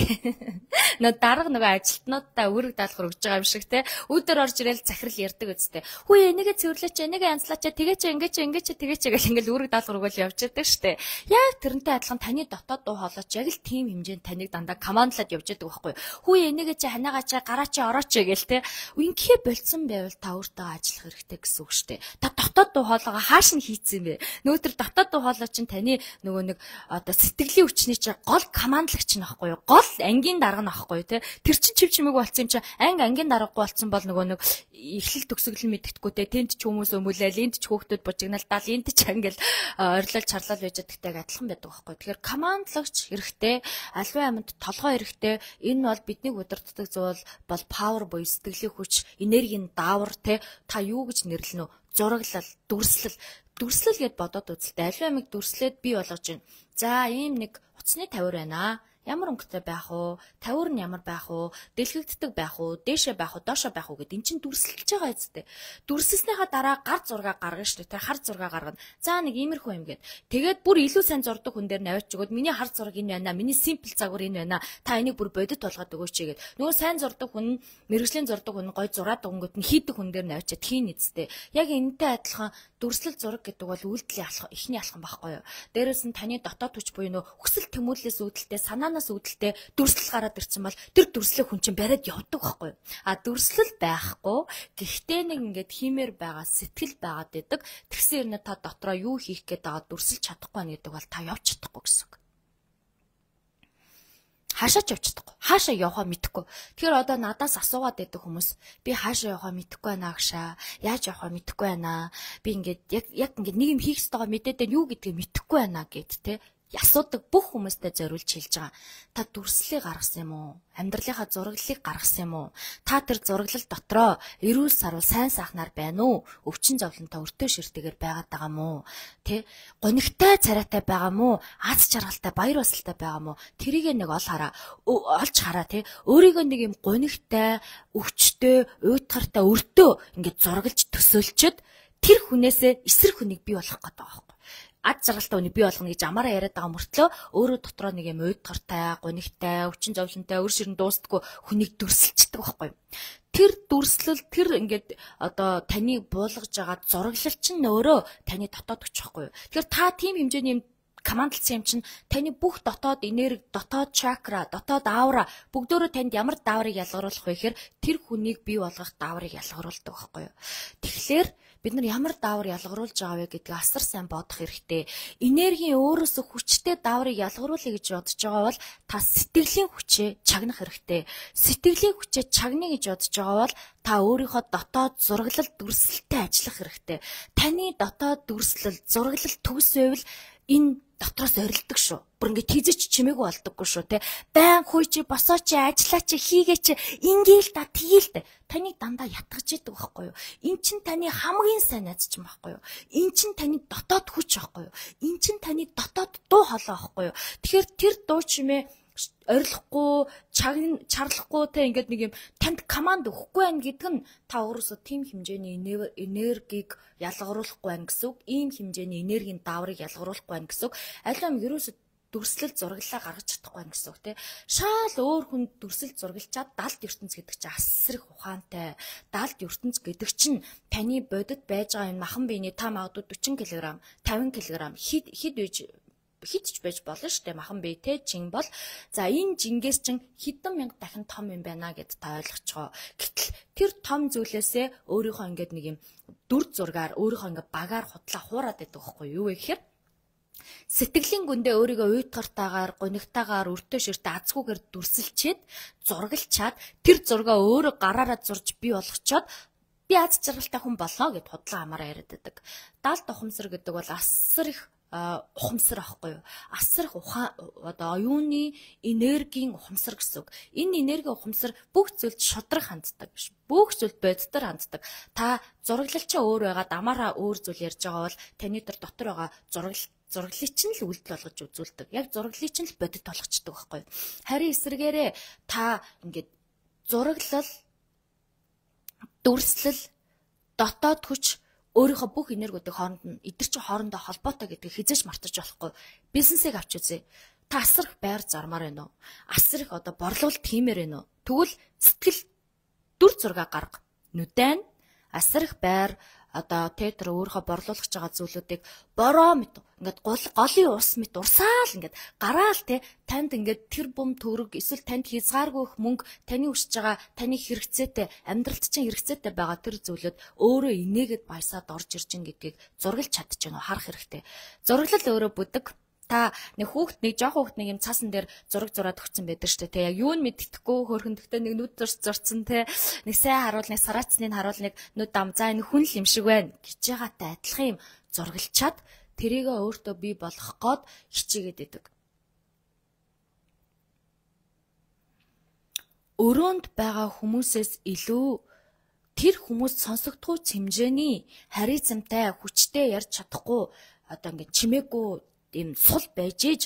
Нөө дарга нөгөө ажилтнуудаа үүрэг даалгавар өгж байгаа юм шиг тэ. Үүдээр орж ирэл захирал ярьдаг үсттэй. Хүү энийгээ цэвэрлээч, энийгээ янзлаач, тэгээч, ингээч, ингээч, тэгээч гэл ингээл үүрэг даалгавар өгөөл явж байдаг штэ. Яг тэрнтэй адилхан таны дотоод дуу хоолойч яг л тийм хэмжээнд таныг дандаа командлаад явж байдаг байхгүй юу? Хүү энийгээ чи ханаагаа чи гараа чи орооч гэл тэ. Инхээ болцсон байвал та өөртөө ажиллах хэрэгтэй гэсэн үг штэ. Та дотоод дуу хоолойгоо хааш нь хийцэн бэ? Нөгөө тэр дотоод дуу хоолой чинь таны нөгөө нэг одоо сэтгэлийн хүчний чи гол командлагч нь байхгүй юу? Гол ангийн дарга нь байхгүй юу те? Тэр чин чив чимээг болцсон юм чи анги ангийн даргагүй болцсон бол нөгөө нэг эхлэл төгсгөл нь мэддэхгүй те. Тэнд ч хүмүүс өмүүлээл, энд ч хүүхдүүд бужигналдаал, энд ч ангил ойрлол чарлал байж чаддагтай адилхан байдаг байхгүй. Тэгэхээр командлагч хэрэгтэй, аливаа амьд толгой хэрэгтэй. Энэ бол бидний удирддаг зүйл бол power буюу сэтгэлийн хүч, энергийн даавар те. Та юу гэж нэрлэнэ үү? Зураглал, дүрслэл, дүрслэл гэд бодоод үзэлтэй. Аливаа амьд дүрслээд бий болгож байна. За ийм нэг утасны тавир байна. Ямар өнгөтэй байх уу? Тавир нь ямар байх уу? Дэлгэгддэг байх уу? Дээшээ байх уу? Доошоо байх уу гэд эн чинь дүрсэлж байгаа эцтэй. Дүрсэлснийхаа дараа гар зураг гаргана шүү дээ. Тэр хар зураг гаргана. За нэг иймэрхүү юм гээд. Тэгээд бүр илүү сайн зурдаг хүн дээр наваач өгөөд миний хар зураг энэ байна. Миний simple загвар энэ байна. Та энийг бүр бодит болгоод өгөөч гээд. Нөгөө сайн зурдаг хүн, мэрэгжлийн зурдаг хүн гой зураад өгөнгөт нь хийдэг хүн дээр наваачаад хийн эцтэй. Яг энэтэй адилхан дүрслэл зураг гэдэг бол үйлдэлийн алхам, эхний алхам байхгүй юу? Дээрээс нь таны дотоод хүч буюу нөө хүсэл тэмүүлэлээс үүдэлтэй санаанаас үүдэлтэй дүрслэл гараад ирсэн бол тэр дүрслэх хүн чинь бариад явдаг байхгүй юу? А дүрслэл байхгүй гэхдээ нэг ингээд хиймээр байгаа сэтгэл байгаад байдаг. Тэгсэн хэрнээ та дотроо юу хийх гээд байгаа дүрсэлж чадахгүй байна гэдэг бол та явж чадахгүй гэсэн үг. Хаашаа ч явж чадахгүй. Хаашаа явахаа мэдэхгүй. Тэгэхээр одоо надаас асуугаад байдаг хүмүүс би хаашаа явахаа мэдэхгүй байна агшаа. Яаж явахаа мэдэхгүй байна. Би ингээд яг яг ингээд нэг юм хийх ёстойгоо мэдээд байна юу гэдгийг мэдэхгүй байна гэд тэ. асуудаг бүх хүмүүстээ зориулж хэлж байгаа. Та дүрслэлийг гаргасан юм уу? Амьдралынхаа зураглалыг гаргасан юм уу? Та тэр зураглал дотроо эрүүл сарвал сайн сайхнаар байна уу? Өвчин зовлонтой өртөө ширтэйгээр байгаад байгаа мó? Тэ? Гонигтай царайтай байгаа мó? Аз жаргалтай баяр баясгалтай байгаа мó? Тэрийг нэг ол хараа. Олж хараа тэ. Өөрийгөө нэг юм гонигтай, өвчтэй, уйтгартай өртөө ингээд зураглаж төсөөлчөд тэр хүнээсээ эсрэг хүнийг бий болгох гэдэг байгаа байхгүй. Ад жаргалтай үнийг бий болгоно гэж амаараа яриад байгаа мөртлөө өөрөө дотроо нэг юм уйдгартай, гонигтай, өвчин зовлонтой, өр ширэн дуустдаггүй хүнийг дүрсэлчдэг байхгүй. Тэр дүрслэл тэр ингээд одоо таны буулгаж байгаа зураглал чинь өөрөө таны дотоод хүч байхгүй. Тэгэхээр та тийм хэмжээний юм командлсан юм чинь таны бүх дотоод энерги, дотоод чакра, дотоод аура бүгдөө танд ямар дааврыг ялгаруулах вэ гэхээр тэр хүнийг бий болгох дааврыг ялгаруулдаг байхгүй юу. Тэгэхээр бид нар ямар даавар ялгаруулж байгаа вэ гэдгийг асар сайн бодох хэрэгтэй. Энергийн өөрөөсөө хүчтэй дааврыг ялгаруулъя гэж бодож байгаа бол та сэтгэлийн хүчээ чагнах хэрэгтэй. Сэтгэлийн хүчээ чагна гэж бодож байгаа бол та өөрийнхөө дотоод зураглал дүрслэлтэй ажиллах хэрэгтэй. Таны дотоод дүрслэл, зураглал төгс байвал энэ дотроос орилдог шүү. Бүр ингээд тийзэж чимээгүй болдоггүй шүү те. Байн хүй чи босоо чи ажиллаа чи хийгээ чи ингээл та тгийлтэй. Таныг дандаа ятгаж идэг байхгүй юу? Эн чин таны хамгийн сайн найз чинь байхгүй юу? Эн чин таны дотоод хүч байхгүй юу? Эн чин таны дотоод дуу хоолой байхгүй юу? Тэгэхээр тэр дуу чимээ орилохгүй, чарлахгүй те ингээд нэг юм танд команд өгөхгүй байх гэдэг нь та өөрөөсөө тийм хэмжээний энергийг ялгаруулахгүй байх гэсэн үг. Ийм хэмжээний энергийн дааврыг ялгаруулахгүй байх гэсэн үг. Аль юм ерөөсөө дүрслэл зураглалаа гаргаж чадахгүй байх гэсэн үг те. Шаал өөр хүн дүрслэл зургалчаад далд ертөнц гэдэг чинь асар их ухаантай. Далд ертөнц гэдэг чинь таны бодит байж байгаа энэ махан биений та магадгүй forty кг, fifty кг хид хид үеж хидч байж болно шүү дээ. Махан бие те жин бол за энэ жингээс чин хэдэн мянга дахин том юм байна гэд та ойлгоцгоо. Гэтэл тэр том зүйлээсээ өөрийнхөө ингээд нэг юм дүр зургаар өөрийнхөө ингээд багаар худлаа хуураад байдаг байхгүй юу вэ гэхээр сэтгэлийн гүндээ өөрийгөө уйтгартаагаар, гонигтаагаар, өртөө ширтээ азгүйгээр дүрсэлчээд зургалчаад тэр зургаа өөрөө гараараа зурж бий болгочоод би аз жаргалтай хүн болно гэд худлаа амаараа яриад байдаг. Далд ухамсар гэдэг бол асар их ухамсар ахгүй юу? Асар их ухаан одоо оюуны энергийн ухамсар гэсэн үг. Энэ энерги ухамсар бүх зүйлд шудраг ханддаг биш. Бүх зүйлд бодитор ханддаг. Та зураглалчаа өөр байгаа, дамаараа өөр зүйл ярьж байгаа бол таны тэр дотор байгаа зураглал зураглалыг чинь л үйлдэл болгож үзүүлдэг. Яг зураглалыг чинь л бодит болгочдөг байхгүй юу? Харин эсрэгээрээ та ингээд зураглал, дүрслэл, дотоод хүч өөрийнхөө бүх энергиудыг хооронд нь эдгэр чи хоорондоо холбоотой гэдгийг хизээж мартаж болохгүй. Бизнесийг авч үзье. Та асар их байр зармаар байна уу? Асар их одоо борлуулалт хиймээр байна уу? Тэгвэл сэтгэл дүр зураг гарга. Нүдэн асар их байр одоо театр өөрийнхөө борлуулах байгаа зүйлүүдийг бороо мэт ингээд гол голын ус мэт урсаал ингээд гараал те танд ингээд тэр бум төгрөг эсвэл танд хязгааргүй их мөнгө таны өсөж байгаа таны хэрэгцээтэй амьдралд чинь хэрэгцээтэй байгаа тэр зүйлүүд өөрөө инээгээд баясаад орж ирж ин гэдгийг зургалж чадчих нь харах хэрэгтэй. Зураглал өөрөө бүдэг. Та нэг хүүхд нэг жоох хүүхд нэг юм цаасан дээр зураг зураад өгсөн байдаг шүү дээ. Тэг яг юу нь мэддэхгүй хөрхөндөгтэй нэг нүд зурц зурцсан те нэг сайн харуул нэг сараацныг харуул нэг нүд дам за энэ хүн л юм шиг байна гэж байгаатай адилхан юм зургалчаад тэрийгээ өөртөө бий болгох гээд хичээгээд байдаг. Өрөөнд байгаа хүмүүсээс илүү тэр хүмүүс сонсогдох хэмжээний харизмтай хүчтэй ярьж чадахгүй одоо ингэ чимээгүй ийм сул байж ээж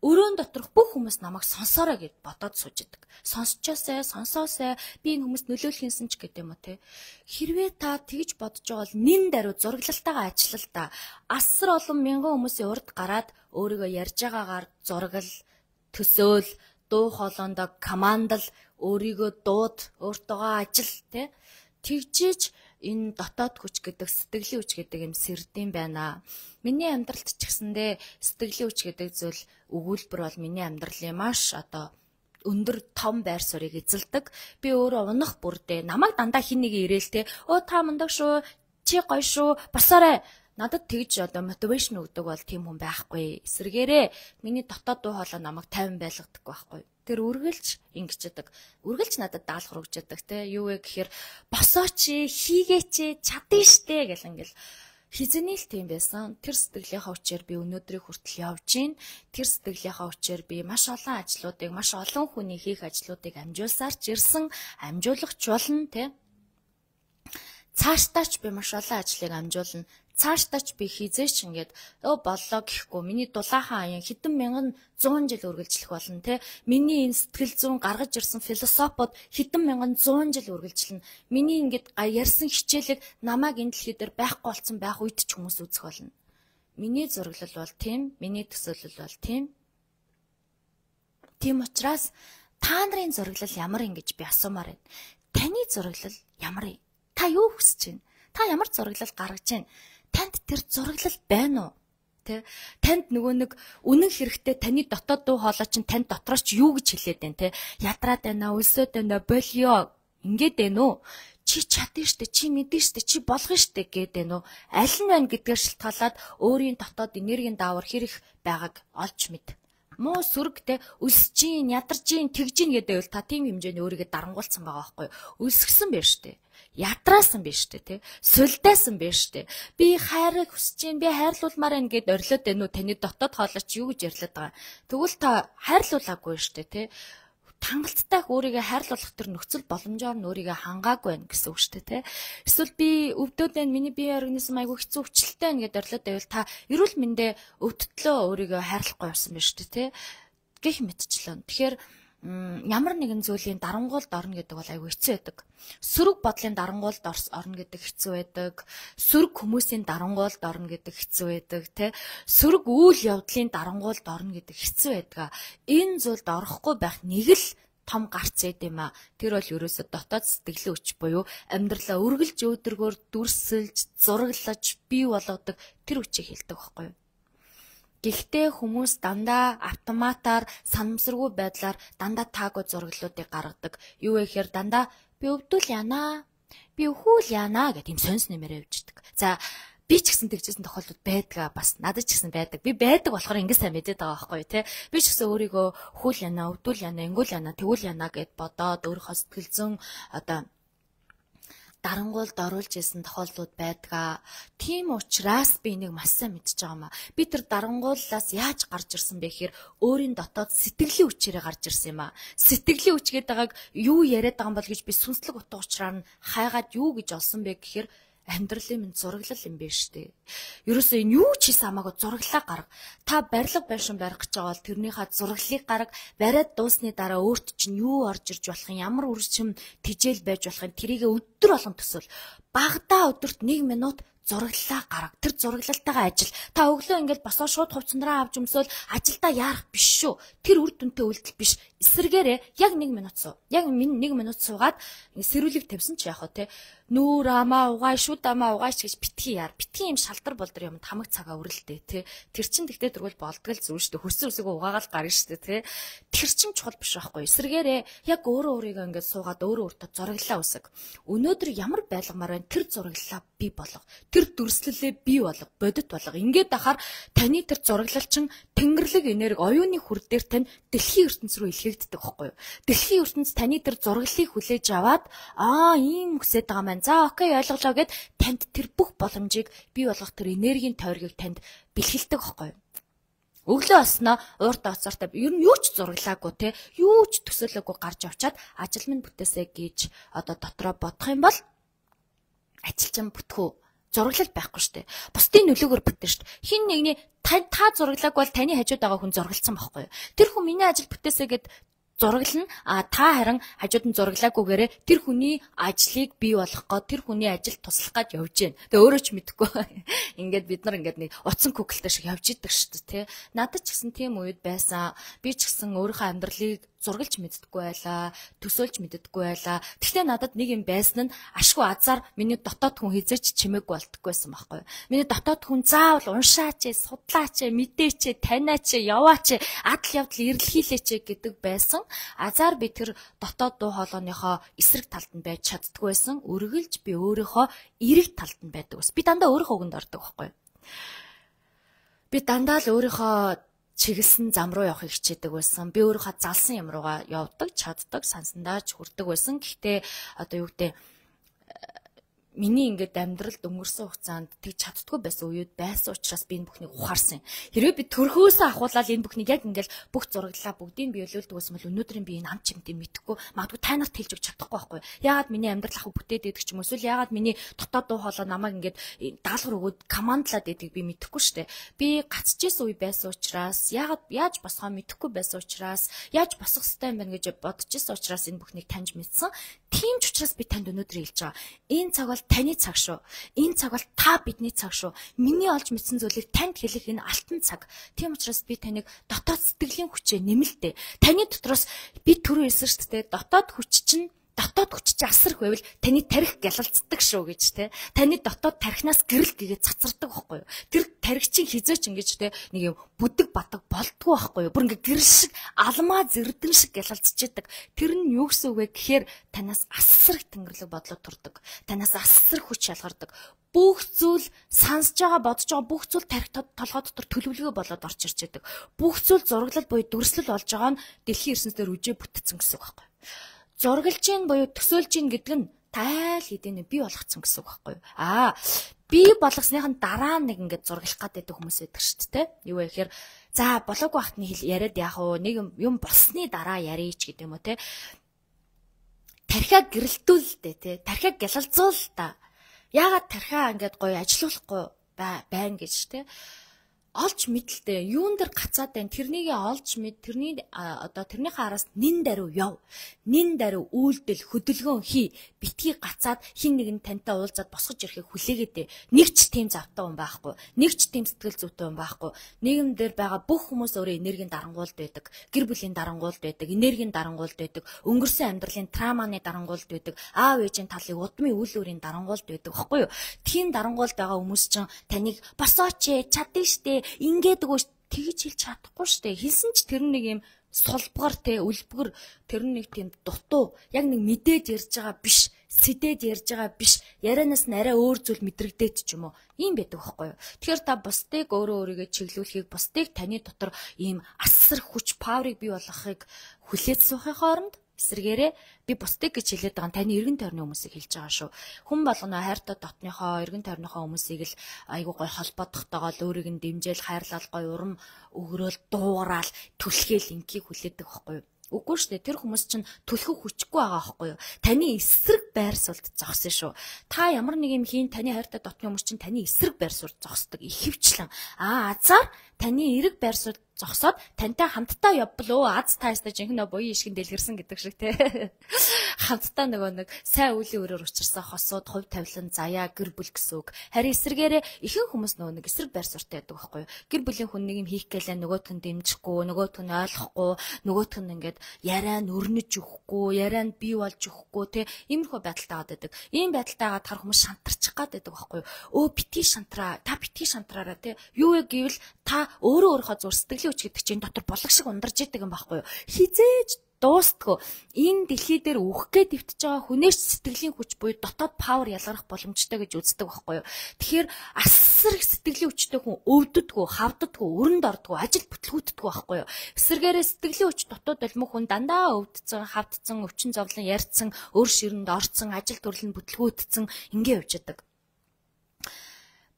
өрөөнд доторх бүх хүмүүс намайг сонсоорой гэд бодоод сууж идэг. Сонсчоосай, сонсоосай, би энэ хүмүүст нөлөөлөхийнсэн ч гэдэг юм уу те. Хэрвээ та тэгж бодож байгаа бол нин даруй зураглалтайгаа ажиллал та. Асар олон мянган хүмүүсийн урд гараад өөрийгөө ярьж байгаагаар зургал, төсөөл, дуу хоолойндоо командл, өөрийгөө дууд, өөртөөгөө ажил те. Тэгжиж энэ дотоод хүч гэдэг сэтгэлийн хүч гэдэг юм сэрдэм байна. Миний амьдралд ч гэсэндээ сэтгэлийн хүч гэдэг зүйл өгүүлбэр бол миний амьдралын маш одоо өндөр том байр суурийг эзэлдэг. Би өөрөө унах бүрдээ намайг дандаа хин нэг ирээл те. Оо та мундаг шүү, чи гоё шүү, босоорой. Надад тэгж одоо мотивашн өгдөг бол тийм хүн байхгүй. Эсвэргээрээ миний дотоод дуу хоолой намайг тайван байлгадаг байхгүй. Тэр үргэлж ингэчдэг. Үргэлж надад даалгавар өгч яадаг те. Юу вэ гэхээр босооч, хийгээч, чадна штэ гэл ингээл хизэний л тийм байсан. Тэр сэтгэлийнхаа хүчээр би өнөөдрийг хүртэл явж гин. Тэр сэтгэлийнхаа хүчээр би маш олон ажлуудыг, маш олон хүний хийх ажлуудыг амжуулсаар ч ирсэн, амжуулагч болно, тэ. Цаашдаач би маш олон ажлыг амжуулна. Цаашдаач би хизээч ингээд өө боллоо гэхгүй миний дулаахан аян хэдэн мянган зуун жил үргэлжлэх болно те. Миний энэ сэтгэл зүйн гаргаж ирсэн философиуд хэдэн мянган зуун жил үргэлжлэнэ. Миний ингээд ярьсан хичээлэг намайг энэ дэлхий дээр байхгүй болсон байх үед ч хүмүүс үзэх болно. Миний зураглал бол тийм, миний төсөөлөл бол тийм. Тийм учраас та нарын зураглал ямар юм гэж би асуумаар байна. Таны зураглал ямар юм? Та юу хүсэж байна? Та ямар зураглал гаргаж байна? Танд тэр зураглал байна уу? Тэ? Танд нөгөө нэг үнэн хэрэгтэй таны дотоод дуу хоолой чинь танд дотроос ч юу гэж хэлээд байна те? Ядраад байна, өлсөд байна, болио. Ингээд байна уу? Чи чадна штэ, чи мэдэн штэ, чи болгоно штэ гэдэг байна уу? Аль нь байна гэдгээр шалтгаалаад өөрийн дотоод энергийн даавар хэрэг байгааг олж мэд. Муу сүргтэй өсөж гин, ядарж гин, тэгж гин гэдэг бол та тийм хэмжээний өөрийгөө дарангуулсан байгаа байхгүй юу? Өсгсөн байж штэ. Ядраасан биш үү те, сүлдээсэн биш үү. Би хайрыг хүсэж гин, би хайрлуулмаар байна гэд орилоод байна уу? Таны дотоод хоолойч юу гэж ярьлаад байгаа. Тэгвэл та хайрлуулаагүй шүү дээ те. Хангалттай өөрийгөө хайрлуулах тэр нөхцөл боломжоор нь өөрийгөө хангаагүй байна гэсэн үг шүү дээ те. Эсвэл би өвдөд байна, миний биеийн организм айгүй хэцүү өвчлөлтэй байна гэд орилоод байвал та эрүүл мэндэ өвдөлтөө өөрийгөө хайрлахгүй явсан байна шүү дээ те. Гэх мэтчлэн. Тэгэхээр ямар нэгэн зүйлийн дарангуйлд орно гэдэг бол айгүй хэцүү байдаг. Сөрөг бодлын дарангуйлд орно гэдэг хэцүү байдаг. Сөрөг хүмүүсийн дарангуйлд орно гэдэг хэцүү байдаг, тэ. Сөрөг үйл явдлын дарангуйлд орно гэдэг хэцүү байдаг. Энэ зүйлд орохгүй байх нэг л том гарц эд юм а. Тэр бол ерөөсө дотоод сэтгэлийн хүч буюу амьдралаа үргэлж өөдрөгөөр дүрсэлж, зураглаж, бий болгодог тэр хүчийг хэлдэг байхгүй юу? Гэхдээ хүмүүс дандаа автоматар санамсаргүй байдлаар дандаа таагүй зураглалуудыг гаргадаг. Юу вэ гэхээр дандаа би өвдөл яана, би өхүүл яана гэдэг юм сонс нэмээр явждаг. За би ч гэсэн тэгжсэн тохиолдол байдаг бас надад ч гэсэн байдаг. Би байдаг болохоор ингэ сайн мэдээд байгаа байхгүй юу те. Би ч гэсэн өөрийгөө өхүүл яана, өвдөл яана, ингүүл яана, тэгүүл яана гэд бодоод өөрийнхөө сэтгэл зүйн одоо дарангуйлд оруулж исэн тохиолдлууд байдаг. Тийм учраас би энийг маш сайн мэдж байгаа юм а. Би тэр дарангууллаас яаж гарч ирсэн бэ гэхээр өөрийн дотоод сэтгэлийн хүчээрээ гарч ирсэн юм а. Сэтгэлийн хүч гэдэг байгааг юу яриад байгаа юм бол гэж би сүнслэг утга учраар нь хайгаад юу гэж олсон бэ гэхээр амьдралын минь зураглал юм байна штэ. Ерөөсөө энэ юу ч хийсэн хамаагүй зураглалаа гарга. Та барилга байшин барих гэж байгаа бол тэрнийхээ зураглалыг гарга. Бариад дуусны дараа өөрт чинь юу орж ирж болох юм, ямар үржим тижэл байж болох юм, тэрийг өдөр болгон төсөөл. Багадаа өдөрт нэг минут зураглалаа гарга. Тэр зураглалтайгаа ажил. Та өглөө ингээд босоо шууд хувцсандраа авч өмсөөл ажилдаа яарах биш шүү. Тэр үр дүнтэй үйлдэл биш. Эсэргээрээ яг нэг минут суу. Яг нэг минут суугаад сэрүүлэг тавьсан ч яах вэ те. Нүүр амаа угааш, шүд амаа угааш гэж битгий яар. Битгий юм шалтар болдор юм хамаг цагаа үрэлдэ те. Тэр чин тэгтээ тэргүүл болдгол зүр штэ. Хөрсөн үсээгөө угаагаал гарна штэ те. Тэр чин чухал биш байхгүй. Эсэргээрээ яг өөрөө өөрийгөө ингээд суугаад өөрөө өөртөө зураглалаа үсэг. Өнөөдөр ямар байлгамаар байна? Тэр зураглалаа бий болго. Тэр дүрслэлээ бий болго, бодит болго. Ингээд ахаар таны тэр зураглал чин тэнгэрлэг энерги оюуны хүр дээр тань дэлхийн ертөнц рүү илгээгддэг байхгүй юу? Дэлхийн ертөнц таны тэр зураглалыг хүлээж аваад аа ийм хүсэж байгаа маань. За окей ойлголоо гэд танд тэр бүх боломжийг бий болгох тэр энергийн тойргийг танд бэлгэлдэг байхгүй юу? Өглөө осноо уурт оцортой ер нь юу ч зураглаагүй те юу ч төсөөлөөгүй гарч авчаад ажил минь бүтээсэй гэж одоо дотроо бодох юм бол ажилчин бүтгүү зураглал байхгүй штэ. Бусдын нөлөөгөөр бүтэн штэ. Хин нэгний та та зураглаагүй бол таны хажууд байгаа хүн зургалцсан байхгүй юу? Тэр хүн миний ажил бүтээсэй гэд зураглал нь а та харин хажууд нь зураглаагүйгээрээ тэр хүний ажлыг бий болгох гоо тэр хүний ажилд туслах гэж явж гин. Тэгээ өөрөө ч мэдэхгүй. Ингээд бид нар ингээд нэг утсан күгэлтэй шиг явж идэг шүү дээ, тэ. Надад ч гэсэн тийм үед байсан. Би ч гэсэн өөрийнхөө амьдралыг зургалж мэддэггүй байлаа, төсөөлж мэддэггүй байлаа. Гэхдээ надад нэг юм байсан нь ашгүй азар миний дотоод хүн хизээч чимээгүй болтгоо байсан байхгүй юу. Миний дотоод хүн заавал уншаач, судлаач, мэдээч, таниач, яваач, адал явдал эрэлхийлээч гэдэг байсан. Азар би тэр дотоод дуу хоолойныхоо эсрэг талд нь байж чаддгүй байсан. Үргэлж би өөрийнхөө эрэг талд нь байдаг ус. Би дандаа өөрийнхөө үгэнд ордог байхгүй юу. Би дандаа л өөрийнхөө чиглэсэн зам руу явахыг хичээдэг байсан. Би өөрийнхөө залсан юм руугаа явдаг, чаддаг, сансандаа ч хүрдэг байсан. Гэхдээ одоо юу гэдэг миний ингээд амьдралд өнгөрсөн хугацаанд тэг чаддгүй байсан үеуд байсан учраас би энэ бүхнийг ухаарсан. Хэрвээ би төрхөөсөө ахуулаад энэ бүхнийг яг ингээд бүх зураглалаа бүгдийг би өлөөлдөг байсан бол өнөөдрийн би энэ ам чимтээ мэдхгүй магадгүй та нарт хэлж өгч чадахгүй байхгүй. Яагаад миний амьдрал ахуй бүтээд идэх ч юм уу эсвэл яагаад миний дотоод дуу хоолой намайг ингээд даалгавар өгөөд командлаад идэх би мэдэхгүй штэ. Би гацчихсэн үе байсан учраас яагаад яаж босгоо мэдэхгүй байсан учраас яаж босох ёстой юм бэ гэж бодчихсон учраас энэ бүхнийг таньж мэдсэн. Тийм ч учраас би танд өнөөдөр хэлж байгаа. Энэ цаг бол таны цаг шүү. Энэ цаг бол та бидний цаг шүү. Миний олж мэдсэн зүйлийг танд хэлэх энэ алтан цаг. Тийм учраас би таныг дотоод сэтгэлийн хүчээ нэмэлтээ. Таны дотроос би түрүү хэлсэн шүү дээ. Дотоод хүч чинь дотоод хүч чинь асар байвал таны тарих гялалцдаг шүү гэж те. Таны дотоод тарихнаас гэрэл гэгээ цацардаг байхгүй юу? Тэр тарих чинь хизээч ингэж те нэг юм бүдэг батаг болдгоо байхгүй юу? Бүр ингээ гэрэл шиг алмаа зэрдэн шиг гялалцчихдаг. Тэр нь юу гэсэн үг вэ гэхээр танаас асар их тэнгэрлэг бодлоо турдаг. Танаас асар хүч шалгардаг. Бүх зүйл сонсож байгаа бодож байгаа бүх зүйл тарих толгой дотор төлөвлөгөө болоод орж ирж байдаг. Бүх зүйл зураглал буюу дүрслэл болж байгаа нь дэлхийн ертөнцийн үжээ бүтцэн гэсэн үг байхгүй юу? Зургалжийн буюу төсөөлжийн гэдэг нь тайл хэдийнэ бий болгоцсон гэсэн үг байхгүй юу? Аа, бий болгосныхын дараа нэг ингээд зурглах гэдэг хүмүүс байдаг шүү дээ. Юу вэ гэхээр за болоогүй хатны хэл яриад яах вэ? Нэг юм болсны дараа ярих ч гэдэг юм уу те. Тархиа гэрэлтүүл дээ те. Тархиа гялалзуул та. Яагаад тархиа ингээд гоё ажилуулахгүй байна гэж те. Олж мэдлээ. Юун дээр гацаад байна? Тэрнийг олж мэд, тэрний одоо тэрнийхээ араас нин даруй яв. Нин даруй үйлдэл, хөдөлгөөн хий. Битгий гацаад хин нэг нь тантай уулзаад босгож ирэхийг хүлээгээд. Нэг ч тийм завтай хүн байхгүй. Нэг ч тийм сэтгэл зүйтэй хүн байхгүй. Нийгэм дээр байгаа бүх хүмүүс өөрөө энергийн дарангуйлд байдаг. Гэр бүлийн дарангуйлд байдаг. Энергийн дарангуйлд байдаг. Өнгөрсөн амьдралын трауманы дарангуйлд байдаг. Аав ээжийн талыг удмын үйл өөрийн дарангуйлд байдаг. Баггүй юу? Тийм дарангуйлд байгаа хүмүүс чинь таныг босооч чаддаг штэ. Ингээд өгөөч тэгж хэлж чадахгүй штэ. Хэлсэн ч тэр нэг юм сулбгар те үлбгэр тэр нэг тийм дутуу яг нэг мэдээд ярьж байгаа биш, сэдээд ярьж байгаа биш. Ярианаас нь арай өөр зүйл мэдрэгдээд ч юм уу. Ийм байдаг байхгүй юу? Тэгэхээр та бусдыг өөрөө өөрийгөө чиглүүлэхийг, бусдыг таны дотор ийм асар хүч паверыг бий болгохыг хүлээж суухын хооронд эсрэгээрээ би бусдыг гэж хэлээд байгаа таны эргэн тойрны хүмүүсийг хэлж байгаа шүү. Хүн болгоно хайртай дотныхоо эргэн тойрныхоо хүмүүсийг л айгуу гой холбоотойгоо л өөрийг нь дэмжээл хайрлал гой урам өгрөөл дуугараал түлхээл инкийг хүлээдэг байхгүй юу? Үгүй шүү дээ. Тэр хүмүүс чинь түлхэх хүчгүй байгаа байхгүй юу? Таны эсрэг байр суулд зогсон шүү. Та ямар нэг юм хийн таны хайртай дотны хүмүүс чинь таны эсрэг байр суулд зогсдог ихэвчлэн. Аа азар таны эрэг байр суулд зогсоод тантай хамтдаа явбал өө аз таастай жинхэнэ буян ишгэн дэлгэрсэн гэдэг шиг те. Хамтдаа нөгөө нэг сайн үеийн өрөөр учирсан хосууд хувь тавилан заяа гэр бүл гэсэн үг. Харин эсрэгээрээ ихэнх хүмүүс нөгөө нэг эсрэг байр суурьтай байдаг байхгүй юу? Гэр бүлийн хүн нэг юм хийх гэлээ нөгөөт нь дэмжихгүй, нөгөөт нь ойлгохгүй, нөгөөт нь ингээд яриа нь өрнөж өгөхгүй, яриа нь бий болж өгөхгүй те. Иймэрхүү байдалтай байдаг. Ийм байдалтай хагаад хар хүмүүс шантарчих гад байдаг байхгүй юу? Өө бити шантраа, та бити шантраараа те. Юу вэ гэвэл та өөрөө өөрийнхөө зур сэтгэлийн хүч гэдэг чинь дотор булаг шиг ундарч идэг юм байхгүй юу? Хизээж дуустгүй. Энэ дэлхий дээр үхэх гээд дэвтэж байгаа хүнээс сэтгэлийн хүч буюу дотоод павер ялгарах боломжтой гэж үздэг байхгүй юу? Тэгэхээр асар их сэтгэлийн хүчтэй хүн өвддөггүй, хавддаггүй, өрөнд ордггүй, ажил бүтлгүүддэггүй байхгүй юу? Эсвэргээрээ сэтгэлийн хүч дотоод болмох хүн дандаа өвдцэн, хавдцсан, өвчин зовлон ярьцсан, өөр ширэнд орцсон, ажил төрлөнд бүтлгүүдсэн ингээ явж идэг.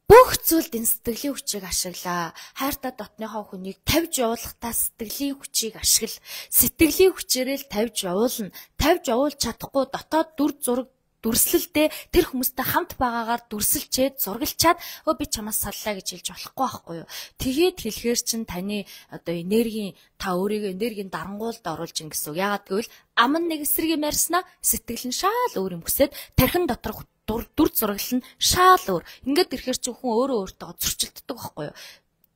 Бүх зүйлд энэ сэтгэлийн хүчийг ашиглаа. Хайртай дотныхоо хүнийг тавьж явуулахдаа сэтгэлийн хүчийг ашигла. Сэтгэлийн хүчээрээ л тавьж явуулна. Тавьж явуулж чадахгүй дотоод дүр зураг дүрслэлдээ тэр хүмүүстэй хамт байгаагаар дүрсэлчээд зургалчаад өө би чамаас саллаа гэж хэлж болохгүй байхгүй юу. Тэгээд хэлэхээр чин таны одоо энергийн та өөрийгөө энергийн дарангуйлд оруулж ин гэсэн үг. Яагаад гэвэл ам нэг эсрэг юм ярьснаа сэтгэл нь шал өөр юм хүсээд тархин доторх дүр дүр зураглал нь шал өөр. Ингээд ирэхээр чи хүн өөрөө өөртөө зөрчилддөг байхгүй юу?